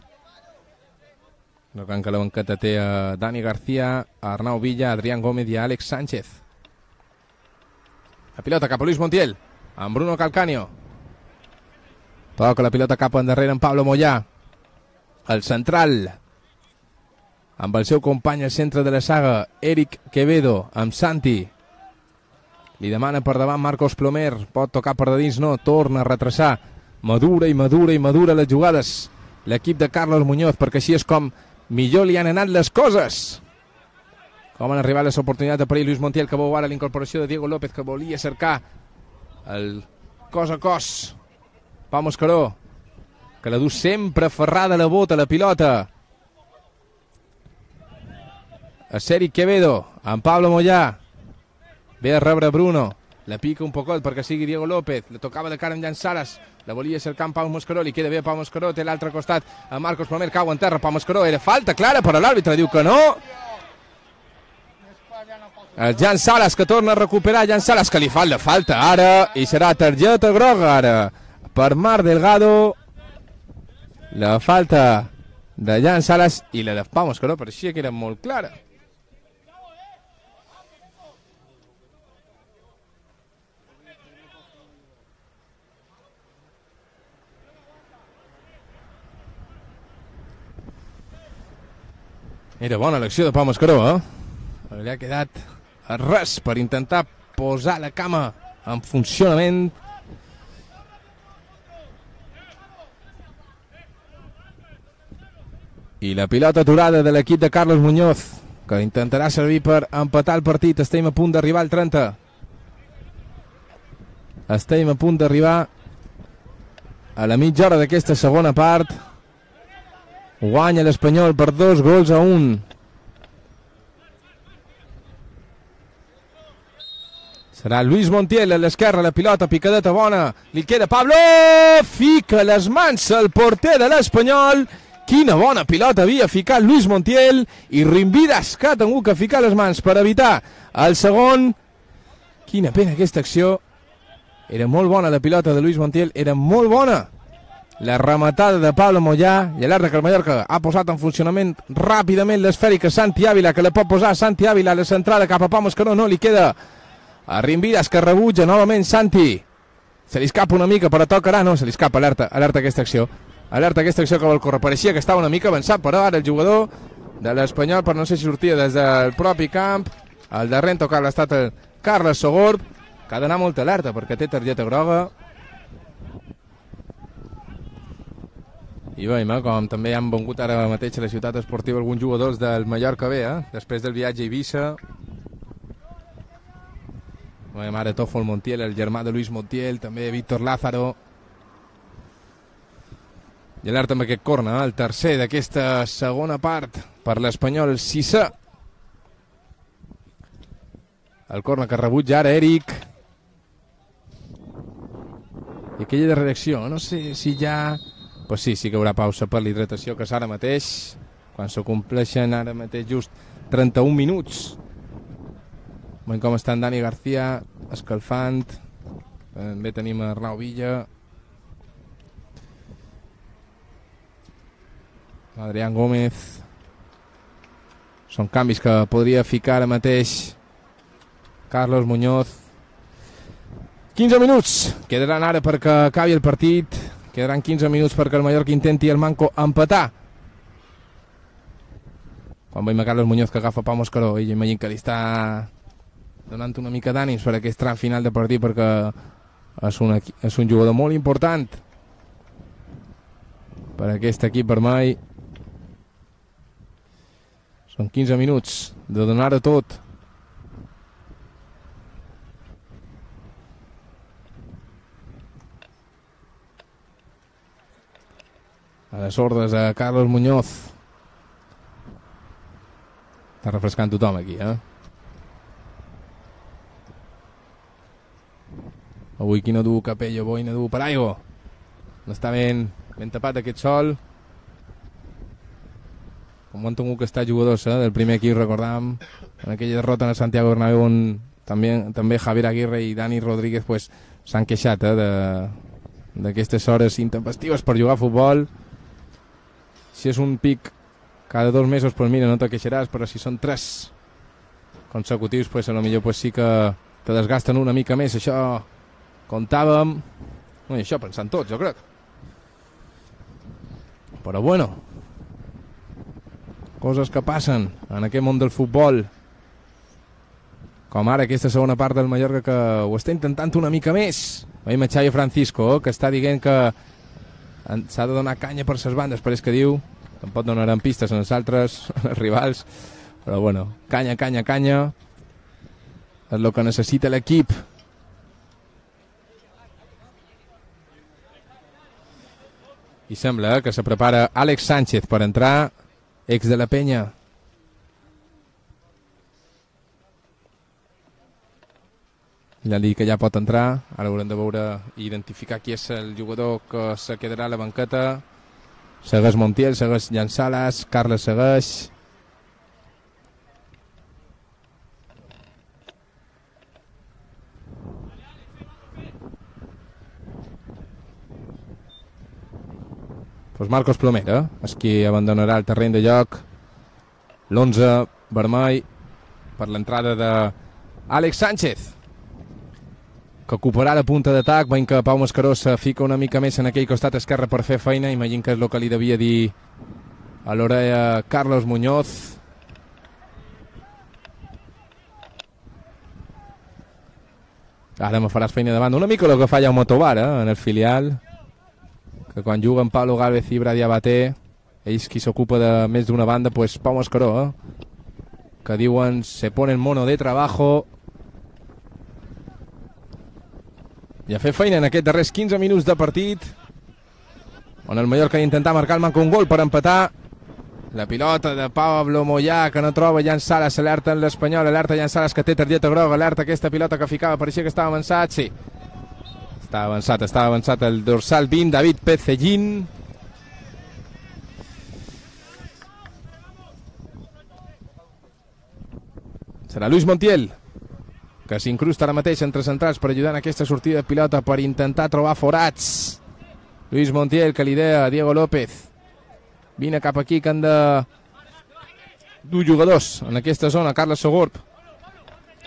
No cal que la banqueta té a Dani García, a Arnau Villa, a Adrián Gómez i a Àlex Sánchez. La pilota cap a Luis Montiel, amb Bruno Calcaño. Toca la pilota cap endarrere en Pablo Moyà. El central, amb el seu company al centre de la saga, Eric Quevedo, amb Santi. Li demana per davant Marcos Plomer, pot tocar per de dins, no, torna a retrasar. Madura les jugades l'equip de Carlos Muñoz, perquè així és com millor li han anat les coses. Com han arribat les oportunitats de perill. Luis Montiel que veu ara l'incorporació de Diego López, que volia cercar el cos a cos Pau Mascaró, que la du sempre aferrada a la bota, la pilota. A Ceric Quevedo, amb Pablo Mollà. Ve a rebre Bruno. La pica un pocot perquè sigui Diego López. La tocava de cara amb Jan Salas. La volia cercar amb Pau Mascaró. Li queda bé a Pau Mascaró. Té l'altre costat a Marcos Plomer. Cau en terra. Pau Mascaró. Era falta clara, però l'àrbitre diu que no. El Jan Salas que torna a recuperar. Jan Salas que li fa la falta ara. I serà targeta groga ara per Marc Delgado. La falta de Jan Salas i la de Pau Mascaró pareixia que era molt clara. Era bona l'acció de Pau Mascaró, Li ha quedat a res per intentar posar la cama en funcionament. I la pilota aturada de l'equip de Carlos Muñoz, que intentarà servir per empatar el partit. Estem a punt d'arribar al 30. Estem a punt d'arribar a la mitja hora d'aquesta segona part. Guanya l'Espanyol per 2-1. Serà Luis Montiel a l'esquerra, la pilota, picadeta bona. Li queda Pablo, fica les mans al porter de l'Espanyol. Quina bona pilota havia ficat Luis Montiel. I Rimvidas, que ha tingut que ficar les mans per evitar el segon. Quina pena aquesta acció. Era molt bona la pilota de Luis Montiel, era molt bona. La rematada de Pablo Mollà i l'altre que el Mallorca ha posat en funcionament ràpidament l'esfèrica Santi Ávila, que la pot posar Santi Ávila a la centrada cap a Pau Mascaró, no li queda a Rimvidas, que rebutja novament Santi. Se li escapa una mica, però tocarà, no, se li escapa, alerta aquesta acció. Alerta aquesta acció que vol córrer. Pareixia que estava una mica avançat, però ara el jugador de l'Espanyol, per no sé si sortia des del propi camp, al darrer en tocar l'estat el Carles Sogorb, que ha d'anar molt alerta perquè té targeta groga. I veiem com també han vengut ara mateix a la ciutat esportiva alguns jugadors del Mallorca B, després del viatge a Eivissa. Veiem ara Tofol Montiel, el germà de Luis Montiel, també Víctor Lázaro. I alerta amb aquest corna, el tercer d'aquesta segona part per l'Espanyol, el sisè. El corna que rebutja ara Eric. I aquella de reacció, no sé si ja... Pues sí que hi haurà pausa per l'hidratació, que és ara mateix, quan s'acompleixen ara mateix just 31 minuts. Veiem com està en Dani García, escalfant. També tenim Arnau Villa. Adrián Gómez. Són canvis que podria ficar ara mateix Carlos Muñoz. 15 minuts quedaran ara perquè acabi el partit. Quedaran 15 minuts perquè el Mallorca intenti el Manco empatar. Quan veiem a Carlos Muñoz que agafa Pau Mascaró, i imagino que li està donant una mica d'ànims per aquest tram final de partit, perquè és un jugador molt important per aquest equip vermell. Són 15 minuts de donar-ho tot. A les ordres a Carlos Muñoz. Està refrescant tothom aquí, Avui qui no du capello, avui no du paraigua. No està ben tapat aquest sol. Com han tingut que estar jugadors del primer equip, recordàvem, en aquella derrota en el Santiago Bernabéu, on també Javier Aguirre i Dani Rodríguez s'han queixat d'aquestes hores intempestives per jugar a futbol. Si és un pic cada 2 mesos, pues mira, no te queixaràs, però si són 3 consecutius, pues a lo millor pues sí que te desgasten una mica més. Això comptàvem, i això pensant tots, jo crec. Però bueno, coses que passen en aquest món del futbol, com ara aquesta segona part del Mallorca que ho està intentant una mica més. Veiem a Xavi Francisco, que està dient que s'ha de donar canya per ses bandes, però és que diu, tampoc donaran pistes en els altres els rivals, però bueno, canya és el que necessita l'equip. I sembla que se prepara Àlex Sánchez per entrar, ex de la Penya. Ja han dit que ja pot entrar. Ara haurem de veure i identificar qui és el jugador que se quedarà a la banqueta. Segueix Montiel, segueix Jan Sales, Carles segueix. Pues Marcos Plomera és qui abandonarà el terreny de joc. L'11 vermell per l'entrada d'Àlex Sánchez, que ocuparà la punta d'atac, veient que Pau Mascaró se fica una mica més en aquell costat esquerre per fer feina. Imagino que és el que li devia dir a l'orella Carlos Muñoz. Ara me faràs feina davant. Una mica el que fa ja un Motobar en el filial, que quan juguen Pablo Gálvez i Brady Abaté, ells qui s'ocupa de més d'una banda, pues Pau Mascaró, que diuen se pone el mono de trabajo. I a fer feina en aquests darrers 15 minuts de partit, on el Mallorca intenta marcar el manco un gol per empatar. La pilota de Pablo Moyà, que no troba Jan Sales, alerta en l'Espanyol, alerta Jan Sales que té targeta groga, alerta aquesta pilota que ficava, pareixia que estava avançat, sí. Estava avançat el dorsal 20, David Pecellín. Serà Luis Montiel, que s'incrusta ara mateix entre centrals per ajudar en aquesta sortida de pilota, per intentar trobar forats. Luis Montiel, que l'idea Diego López. Vine cap aquí, que han de dur jugadors en aquesta zona. Carles Sogorb.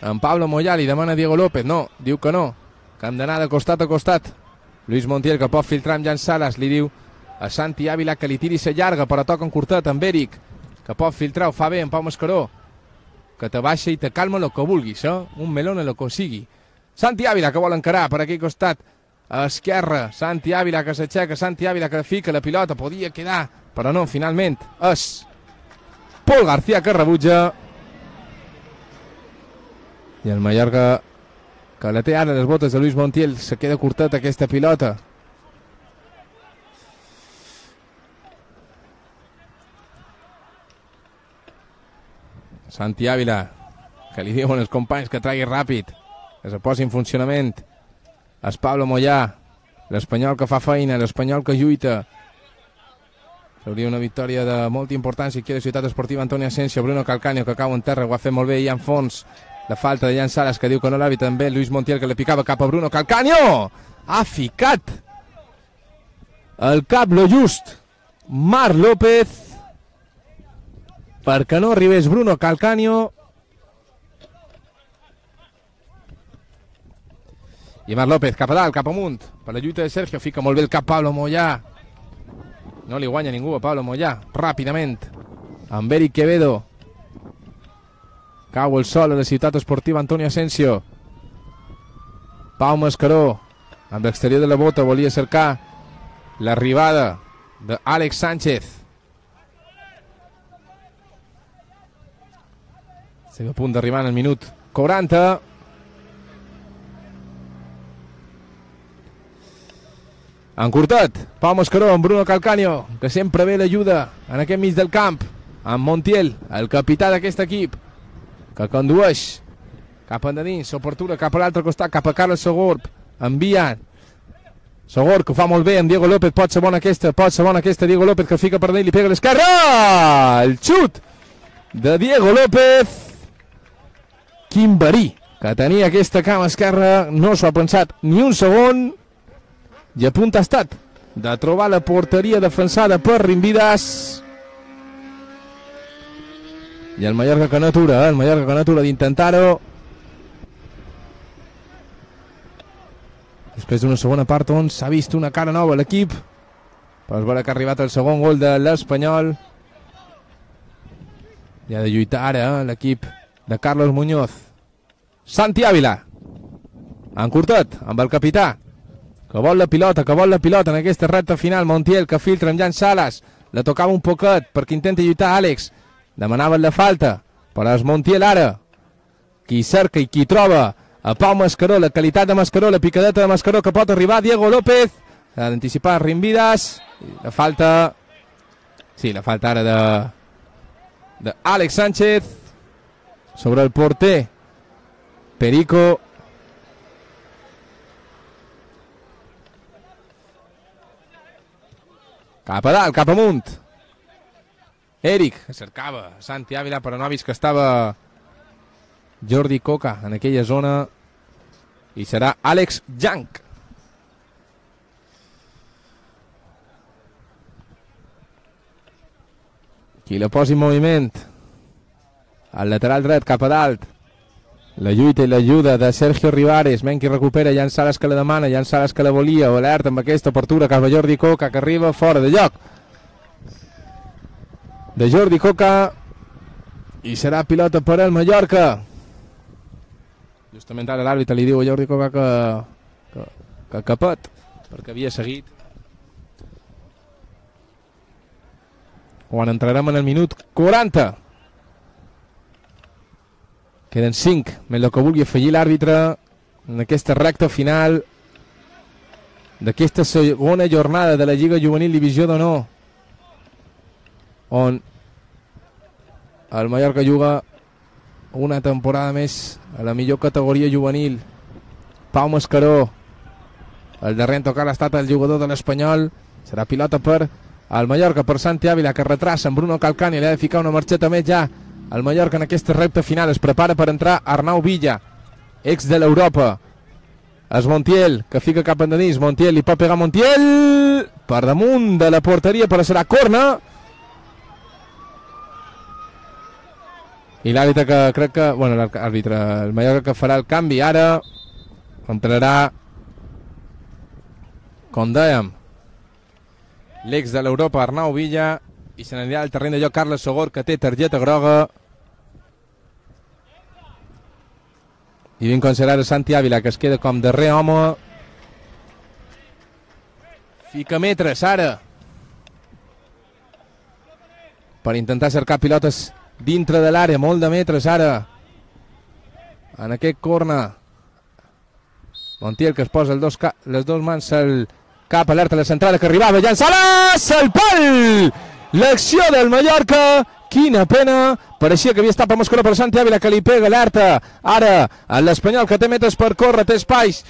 En Pablo Moyà li demana Diego López. No, diu que no, que hem d'anar de costat a costat. Luis Montiel, que pot filtrar amb Jan Sales, li diu a Santi Ávila que li tiri sa llarga, però toca en curtet amb Eric, que pot filtrar, ho fa bé en Pau Mascaró, que te baixa i te calma el que vulguis, un melón el que sigui. Santi Ávila, que vol encarar per aquell costat a esquerra. Santi Ávila, que s'aixeca, Santi Ávila, que fica la pilota, podia quedar, però no, finalment és Pol García que rebutja. I el Mallorca, que la té ara les botes de Luis Montiel, se queda curtet aquesta pilota. Santi Ávila, que li diuen els companys que tregui ràpid, que se posi en funcionament. És Pablo Moyà, l'Espanyol que fa feina, l'Espanyol que lluita. Hauria una victòria de molta importància aquí a la Ciutat Esportiva Antoni Asensio. Bruno Calcaño, que cau en terra, ho ha fet molt bé, i en fons la falta de Jan Sales, que diu que no l'ha vist també. Luis Montiel, que le picava cap a Bruno Calcaño, ha ficat el cap lo just Marc López perquè no arribés Bruno Calcaño. I Marc López cap a dalt, cap amunt, per la lluita de Sergio, fica molt bé el cap Pablo Moyà. No li guanya ningú a Pablo Moyà. Ràpidament, amb Eric Quevedo. Cau el sol a la Ciutat Esportiva Antoni Asensio. Pau Mascaró, amb l'exterior de la bota, volia cercar l'arribada d'Àlex Sánchez. Estem a punt d'arribar en el minut 40. Encurtat, Pau Mascaró amb Bruno Calcaño, que sempre ve l'ajuda en aquest mig del camp, amb Montiel, el capità d'aquest equip, que condueix cap endins, s'oportura cap a l'altre costat, cap a Carles Sogorb, envia Sogorb, que ho fa molt bé amb Diego López, pot ser bona aquesta, Diego López, que fica per dalt i li pega a l'esquerra, el xut de Diego López. Quin verí que tenia aquesta cama esquerra, no s'ho ha pensat ni un segon, i a punt ha estat de trobar la porteria defensada per Rimbidas. I el Mallorca que no atura, el Mallorca que no atura d'intentar-ho. Després d'una segona part on s'ha vist una cara nova a l'equip, per veure que ha arribat el segon gol de l'Espanyol. I ha de lluitar ara l'equip de Carlos Muñoz. Santi Ávila, encurtat amb el capità, que vol la pilota en aquesta recta final. Montiel, que filtra amb Jan Sales, la tocava un poquet perquè intenta lluitar Àlex, demanaven la falta, però és Montiel ara qui cerca i qui troba a Pau Mascaró, la qualitat de Mascaró, la picadeta de Mascaró, que pot arribar Diego López, s'ha d'anticipar Rimvidas, la falta, sí, la falta ara d'Àlex Sánchez sobre el porter Perico. Cap a dalt, cap amunt. Eric, que cercava Santi Ávila, però no ha vist que estava Jordi Coca en aquella zona, i serà Àlex Jank. Qui la posi en moviment. Al lateral dret, cap a dalt. La lluita i l'ajuda de Sergio Rivares. Menqui recupera, Jan Sales que la demana, Jan Sales que la volia. Alerta amb aquesta apertura cap a Jordi Coca, que arriba fora de lloc de Jordi Coca, i serà pilota per al Mallorca. Justament ara l'àrbitre li diu a Jordi Coca que capet, perquè havia seguit. Quan entrarem en el minut 40. Queden 5, més el que vulgui afegir l'àrbitre en aquesta recta final d'aquesta segona jornada de la Lliga Juvenil Divisió d'Honor, on el Mallorca juga una temporada més a la millor categoria juvenil. Pau Mascaró, el darrer en tocar ha estat el jugador de l'Espanyol. Serà pilota per el Mallorca, per Santi Ávila, que retrassa amb Bruno Calcani. Li ha de ficar una marxeta més ja el Mallorca en aquesta recta final. Es prepara per entrar Arnau Villa, ex de l'Europa. És Montiel, que fica cap endinís. Montiel, li pot pegar Montiel per damunt de la porteria, però serà corna. I l'àrbitre que crec que... Bueno, l'àrbitre, el Mallorca que farà el canvi ara. Entrarà, com dèiem, l'ex de l'Europa, Arnau Villa, i se n'anirà al terreny de joc Carles Sogor, que té targeta groga. I ben considerar Santi Ávila, que es queda com darrer home. Fica metres ara per intentar cercar pilotes dintre de l'àrea, molt de metres ara en aquest corner. Montiel, que es posa les dos mans al cap, alerta a la centrada que arribava, Jan Sales, el pal! L'acció del Mallorca, quina pena, pareixia que havia estat per Mascaró, per Santi Ávila, que li pega alerta ara a l'Espanyol, que té metres per córrer, té espais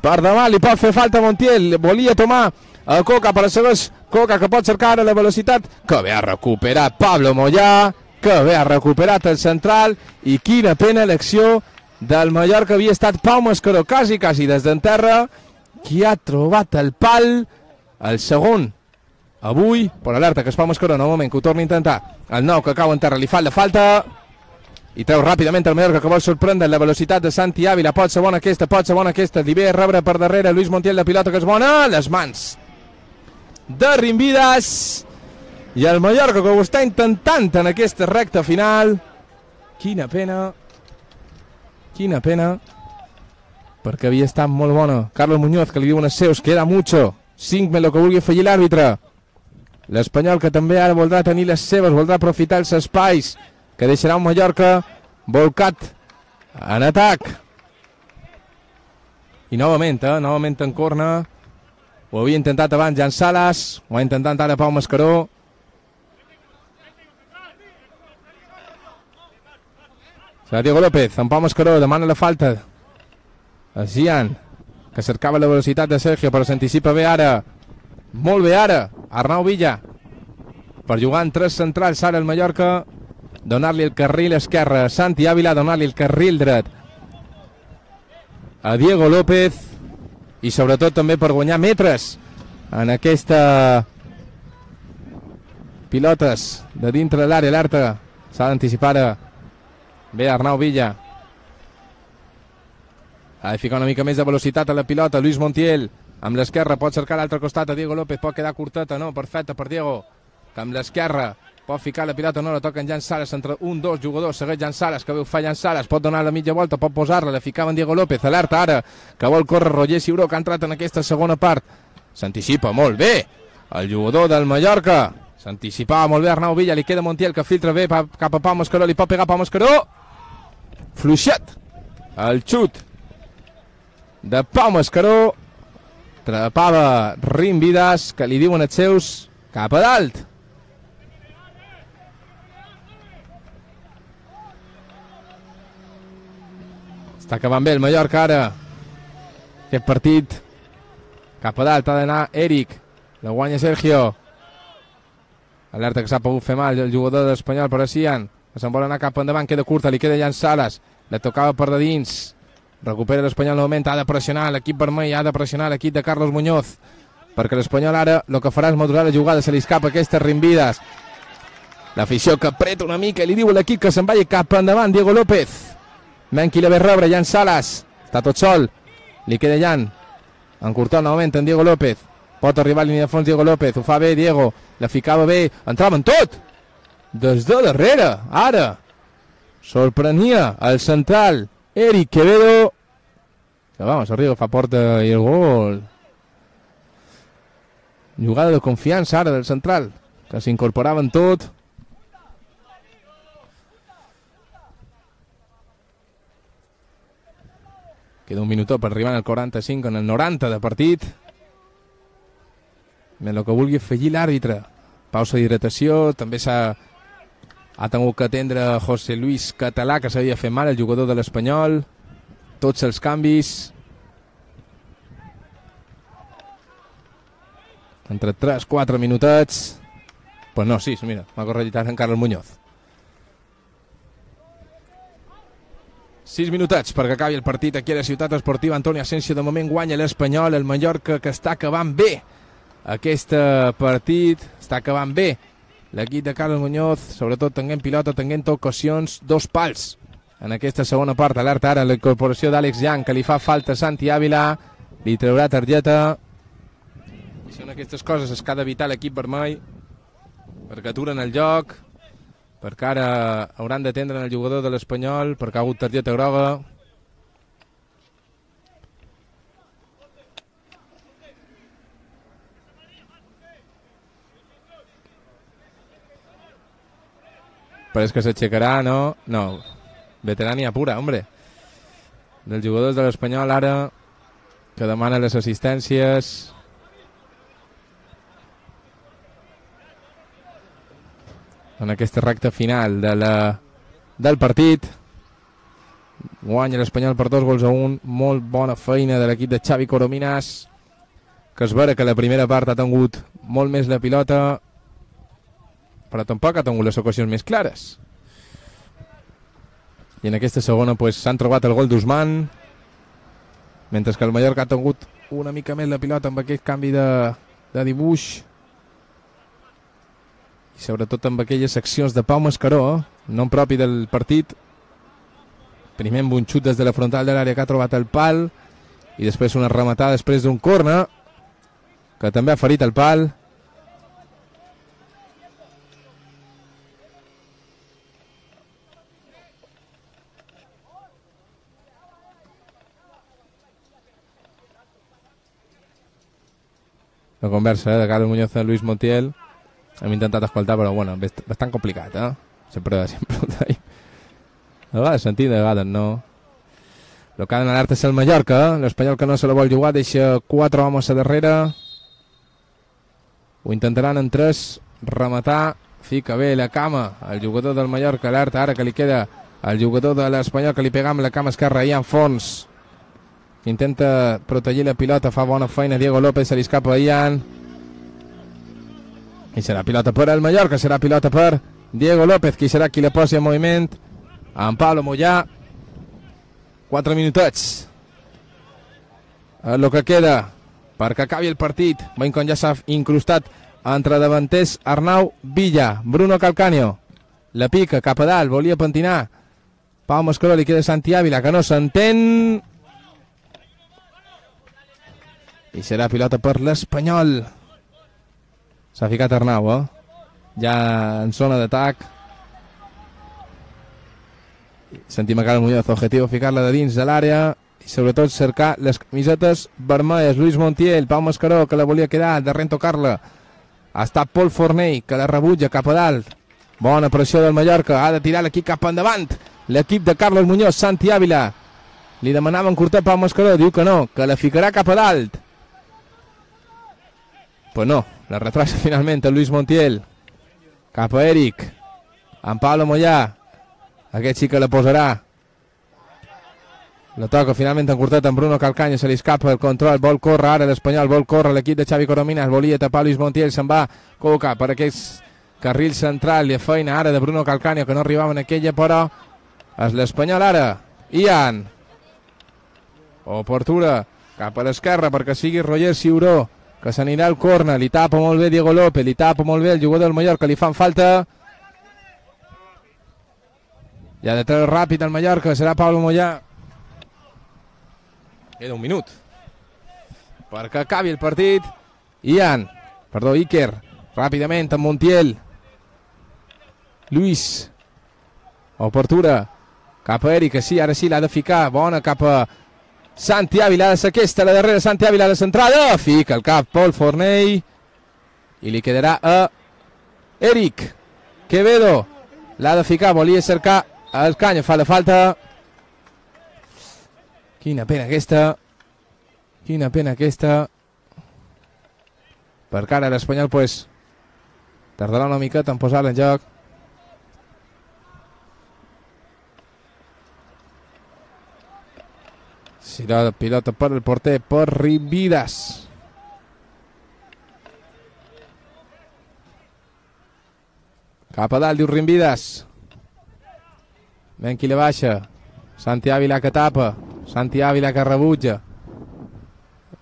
per davant, li pot fer falta Montiel, volia tomar a Coca, però segueix Coca, que pot cercar ara la velocitat, que bé ha recuperat Pablo Moyà, que bé ha recuperat el central, i quina pena l'acció del Mallorca. Havia estat Pau Mascaró quasi des d'enterra, qui ha trobat el pal, el segon avui, per alerta que es Pau Mascaró, novament, que ho torni a intentar, el nou que cau en terra, li fa la falta i treu ràpidament el Mallorca, que vol sorprendre la velocitat de Santi Ávila. Pot ser bona aquesta, li ve a rebre per darrere Luis Montiel, de pilota que és bona, les mans de Rimvidas, i el Mallorca que ho està intentant en aquesta recta final. Quina pena, perquè havia estat molt bona. Carlos Muñoz, que li diuen els seus, queda mucho, 5 més el que vulgui afegir l'àrbitre. L'Espanyol, que també ara voldrà tenir les seves, voldrà aprofitar els espais, que deixarà un Mallorca volcat en atac. I novament en corna. Ho havia intentat abans Jan Sales, ho ha intentat ara Pau Mascaró. Serà Diego López, en Pau Mascaró, demana la falta a Gian, que cercava la velocitat de Sergio, però s'anticipa bé ara, molt bé ara, Arnau Villa, per jugar en tres centrals ara el Mallorca, donar-li el carril esquerre a Santi Ávila, donar-li el carril dret a Diego López, i sobretot també per guanyar metres en aquesta pilotes de dintre de l'àrea. Alerta, s'ha d'anticipar bé Arnau Villa, ha de ficar una mica més de velocitat a la pilota. Luis Montiel amb l'esquerra, pot cercar l'altre costat a Diego López, pot quedar curteta, no, perfecta per Diego, que amb l'esquerra pot ficar la pilota, no la toca en Jan Sales, entre un, dos jugadors, segueix Jan Sales, que veu fa Jan Sales, pot donar la mitja volta, pot posar-la, la ficava en Diego López. Alerta ara, que vol córrer Roger Ciuró, que ha entrat en aquesta segona part, s'anticipa molt bé el jugador del Mallorca, s'anticipava molt bé Arnau Villa, li queda Montiel, que filtra bé cap a Pau Mascaró, li pot pegar Pau Mascaró, fluixet el xut de Pau Mascaró, Atrapava Rimvidas, que li diuen els seus cap a dalt. Està acabant bé el Mallorca ara. Aquest partit cap a dalt ha d'anar Eric. La guanya Sergio. Alerta que s'ha pogut fer mal el jugador de l'Espanyol, però Sian, que se'n vol anar cap endavant, queda curta, li queda Jan Salas, la tocava per de dins, recupera l'Espanyol novament, ha de pressionar l'equip vermell, ha de pressionar l'equip de Carlos Muñoz, perquè l'Espanyol ara el que farà és modular la jugada, se li escapa aquestes Rimvidas, l'afició que apreta una mica i li diu a l'equip que se'n vagi cap endavant, Diego López, Menki la ve rebre, Jan Salas, està tot sol, li queda Jan, encurtant novament en Diego López, pot arribar a línia de fons Diego López, ho fa bé Diego, la ficava bé, entrava en tot, des de darrere, ara, sorprenia el central, Eric Quevedo, que vamos, arriba, fa porta i el gol. Jugada de confiança ara del central, que s'incorporava en tot. Queda un minutó per arribar al 45, en el 90 de partit. El que vulgui afegir l'àrbitre. Pausa d'hidratació, també ha tingut que atendre José Luis Català, que s'havia fet mal, el jugador de l'Espanyol. Tots els canvis. Entre 3-4 minutets. Pues no, sí, mira, m'ha corregit en Carlos Muñoz. 6 minutets perquè acabi el partit aquí a la Ciutat Esportiva Antoni Asensio. De moment guanya l'Espanyol, el Mallorca, que està acabant bé aquest partit, està acabant bé l'equip de Carlos Muñoz, sobretot tenint pilota, tenint ocasions, 2 pals en aquesta segona part. Alerta ara la incorporació d'Àlex Young, que li fa falta a Santi Ávila, li traurà targeta. Són aquestes coses que ha d'evitar l'equip vermell, perquè aturen el joc, perquè ara hauran d'atendre el jugador de l'Espanyol, perquè ha hagut targeta groga. Parece que s'aixecarà, no? No, veterania pura, hombre. Dels jugadors de l'Espanyol ara, que demana les assistències. En aquesta recta final del partit. Guanya l'Espanyol per 2-1. Molt bona feina de l'equip de Xavi Corominas, que es veure que la primera part ha tingut molt més la pilota, però tampoc ha tingut les ocasions més clares. I en aquesta segona s'han trobat el gol d'Usman, mentre que el Mallorca ha tingut una mica més la pilota amb aquest canvi de dibuix, i sobretot amb aquelles accions de Pau Mascaró, nom propi del partit. Primer amb un xut des de la frontal de l'àrea que ha trobat el pal, i després una rematada després d'un corner que també ha ferit el pal. La conversa de Carlos Muñoz i Luis Montiel. Hem intentat escoltar, però bueno, bastant complicat, Sempre ho tenim. De vegades sentit, de vegades no. El que ha d'anar és el Mallorca, l'Espanyol que no se la vol jugar, deixa 4 homes a darrere. Ho intentaran en 3, rematar, fica bé la cama, el jugador del Mallorca, alerta ara que li queda el jugador de l'Espanyol, que li pega amb la cama esquerra, Ian Fons. Intenta protegir la pilota, fa bona feina Diego López, se li escapa a Ian. I serà pilota per el Mallorca, serà pilota per Diego López, qui serà qui la posi en moviment. En Pablo Mollà. 4 minutets. El que queda perquè acabi el partit. Veiem com ja s'ha incrustat entre davanters Arnau Villa, Bruno Calcaño. La pica cap a dalt, volia pentinar Pau Mascaró, li queda Santi Ávila, que no s'entén. I serà pilota per l'Espanyol. S'ha ficat Arnau, ja en zona d'atac. Sentim a Carlos Muñoz, objectiu ficar-la de dins de l'àrea i sobretot cercar les camisetes vermelles. Luis Montiel, Pau Mascaró, que la volia quedar, darrere tocar-la. Ha estat Pol Fornell, que la rebutja cap a dalt. Bona pressió del Mallorca, ha de tirar l'equip cap endavant. L'equip de Carlos Muñoz, Santi Ávila. Li demanaven curtar Pau Mascaró, diu que no, que la ficarà cap a dalt. Pues no, la retrasa finalment Luis Montiel. Cap a Eric. En Pablo Moyà. Aquest sí que la posarà. La toca finalment en curtet amb Bruno Calcaño, se li escapa el control, vol córrer ara l'Espanyol, vol córrer l'equip de Xavi Corominas, volia tapar Luis Montiel, se'n va col·locar per aquest carril central, i feina ara de Bruno Calcaño, que no arribava en aquella, però és l'Espanyol ara. Ian. Oportura cap a l'esquerra perquè sigui Roger Ciuró, que s'anirà al córner, li tapa molt bé Diego López, li tapa molt bé el jugador del Mallorca, li fan falta. I ha de treure ràpid el Mallorca, serà Pablo Moyà. Queda un minut perquè acabi el partit. Iker, ràpidament amb Montiel. Luis. Oportura cap a Eric, que sí, ara sí l'ha de ficar, bona cap a Santi Ávila, ha de ser aquesta, la darrera Santi Ávila, la centrada, fica el cap Pol Fornell i li quedarà a Eric. Quevedo l'ha de ficar, volia cercar el Canyo, fa la falta. Quina pena aquesta. Per cara l'Espanyol, pues, tardarà una miqueta en posar-la en joc. Serà pilota per el porter, per Rimvidas. Cap a dalt, diu Rimvidas. Ben qui la baixa. Santi Ávila que tapa. Santi Ávila que rebutja.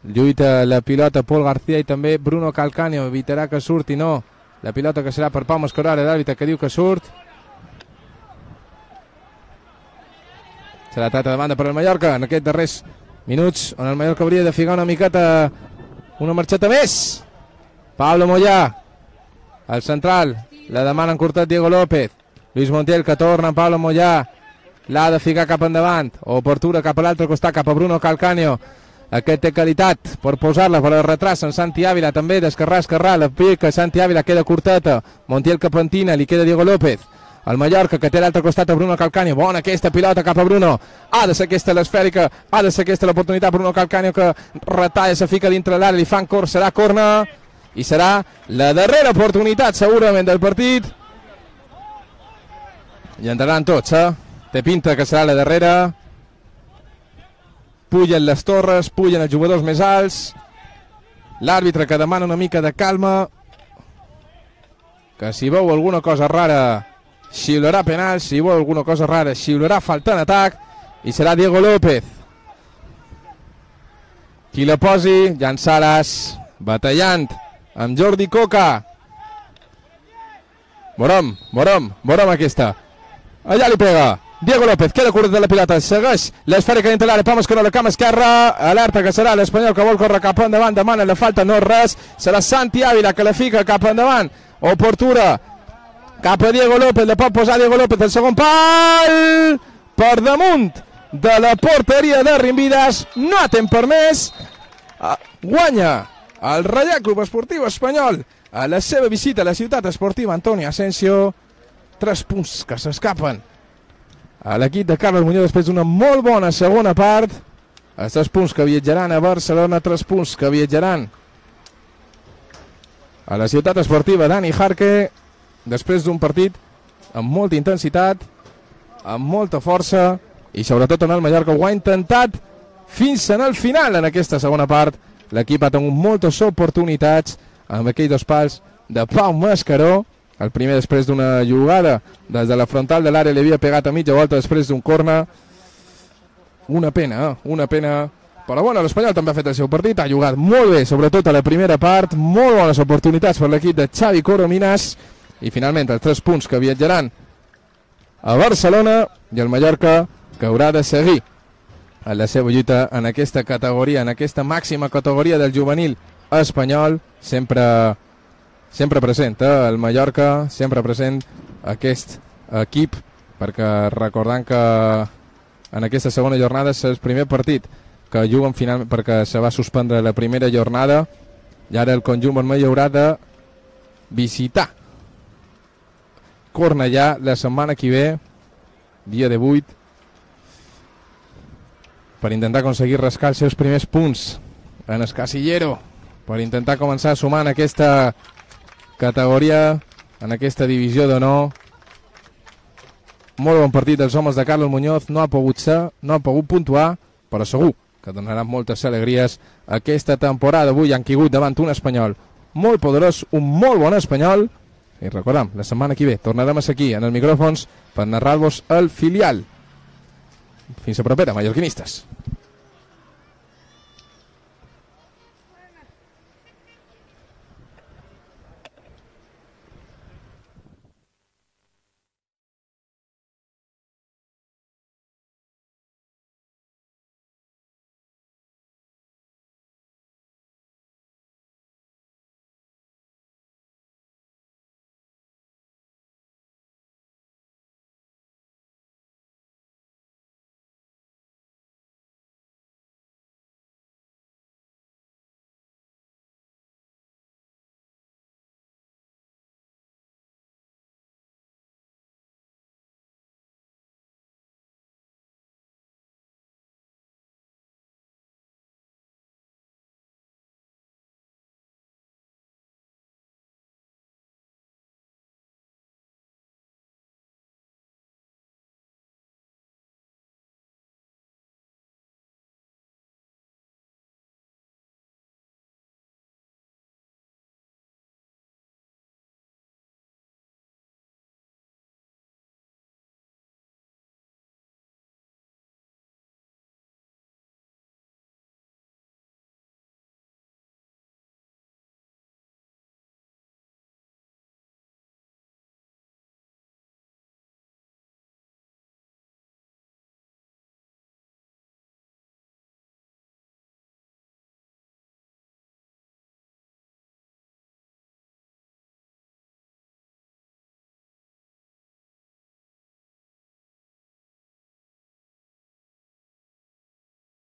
Lluita la pilota Pol García i també Bruno Calcaño. Evitarà que surti, no. La pilota que serà per Pau Mascaró, l'àrbitre que diu que surt. Serà trata de banda per el Mallorca en aquests darrers minuts on el Mallorca hauria de ficar una miqueta, una marxeta més. Pablo Moyà, el central, la demana en curtet Diego López. Luis Montiel que torna en Pablo Moyà, l'ha de ficar cap endavant. Oportura cap a l'altre costat, cap a Bruno Calcaño. Aquest té qualitat per posar-la, però el retrasa en Santi Ávila també, d'esquerrà a esquerrà, la pica Santi Ávila, queda curteta. Montiel que pentina, li queda Diego López. El Mallorca que té a l'altre costat a Bruno Calcaño, bona aquesta pilota cap a Bruno, ha de ser aquesta l'esfèrica, ha de ser aquesta l'oportunitat. Bruno Calcaño que retalla, se fica dintre l'àrea, li fan cor, serà corna i serà la darrera oportunitat segurament del partit i entraran tots, té pinta que serà la darrera. Pugen les torres, pugen els jugadors més alts, l'àrbitre que demana una mica de calma, que si veu alguna cosa rara xiularà penal, si veu alguna cosa rara xiularà falta en atac i serà Diego López qui la posi. Jan Salas batallant amb Jordi Coca. Veurem aquesta, allà li pega Diego López, queda curt de la pilota, segueix l'esfèrica dintre l'àrea, Pau Mascaró a la cama esquerra, alerta que serà l'Espanyol que vol córrer cap endavant, demana la falta, no és res, serà Santi Ávila que la fica cap endavant. Oportura cap a Diego López, la pot posar Diego López, el segon pal per damunt de la porteria de Rimvidas, no ha temps per més. Guanya el Reial Club Esportiu Espanyol a la seva visita a la ciutat esportiva Antonio Asensio. 3 punts que s'escapen a l'equip de Carles Muñoz després d'una molt bona segona part. Els 3 punts que viatjaran a Barcelona, 3 punts que viatjaran a la ciutat esportiva Dani Jarque després d'un partit amb molta intensitat, amb molta força i sobretot on el Mallorca ho ha intentat fins en el final. En aquesta segona part l'equip ha tingut moltes oportunitats amb aquells 2 pals de Pau Mascaró. El primer després d'una jugada des de la frontal de l'àrea, li havia pegat a mitja volta després d'un córner. Una pena, però bueno, l'Espanyol també ha fet el seu partit, ha jugat molt bé, sobretot a la primera part, molt bones oportunitats per l'equip de Xavi Corominas i finalment els 3 punts que viatjaran a Barcelona i el Mallorca que haurà de seguir en la seva lluita en aquesta categoria, en aquesta màxima categoria del juvenil espanyol, sempre present, el Mallorca, sempre present aquest equip, perquè recordant que en aquesta segona jornada és el primer partit que juguen finalment perquè se va suspendre la primera jornada i ara el conjunt vermell haurà de visitar Cornellà la setmana que ve, dia 18, per intentar aconseguir rascar els seus primers punts en el casillero per intentar començar a sumar en aquesta categoria, en aquesta divisió d'honor. Molt bon partit dels homes de Carlos Muñoz, no ha pogut ser, no ha pogut puntuar, però segur que donaran moltes alegries aquesta temporada. Avui han caigut davant un espanyol molt poderós, un molt bon espanyol, i recordem, la setmana que ve tornarem a ser aquí en els micròfons per narrar-vos el filial. Fins a propera, mallorquinistes.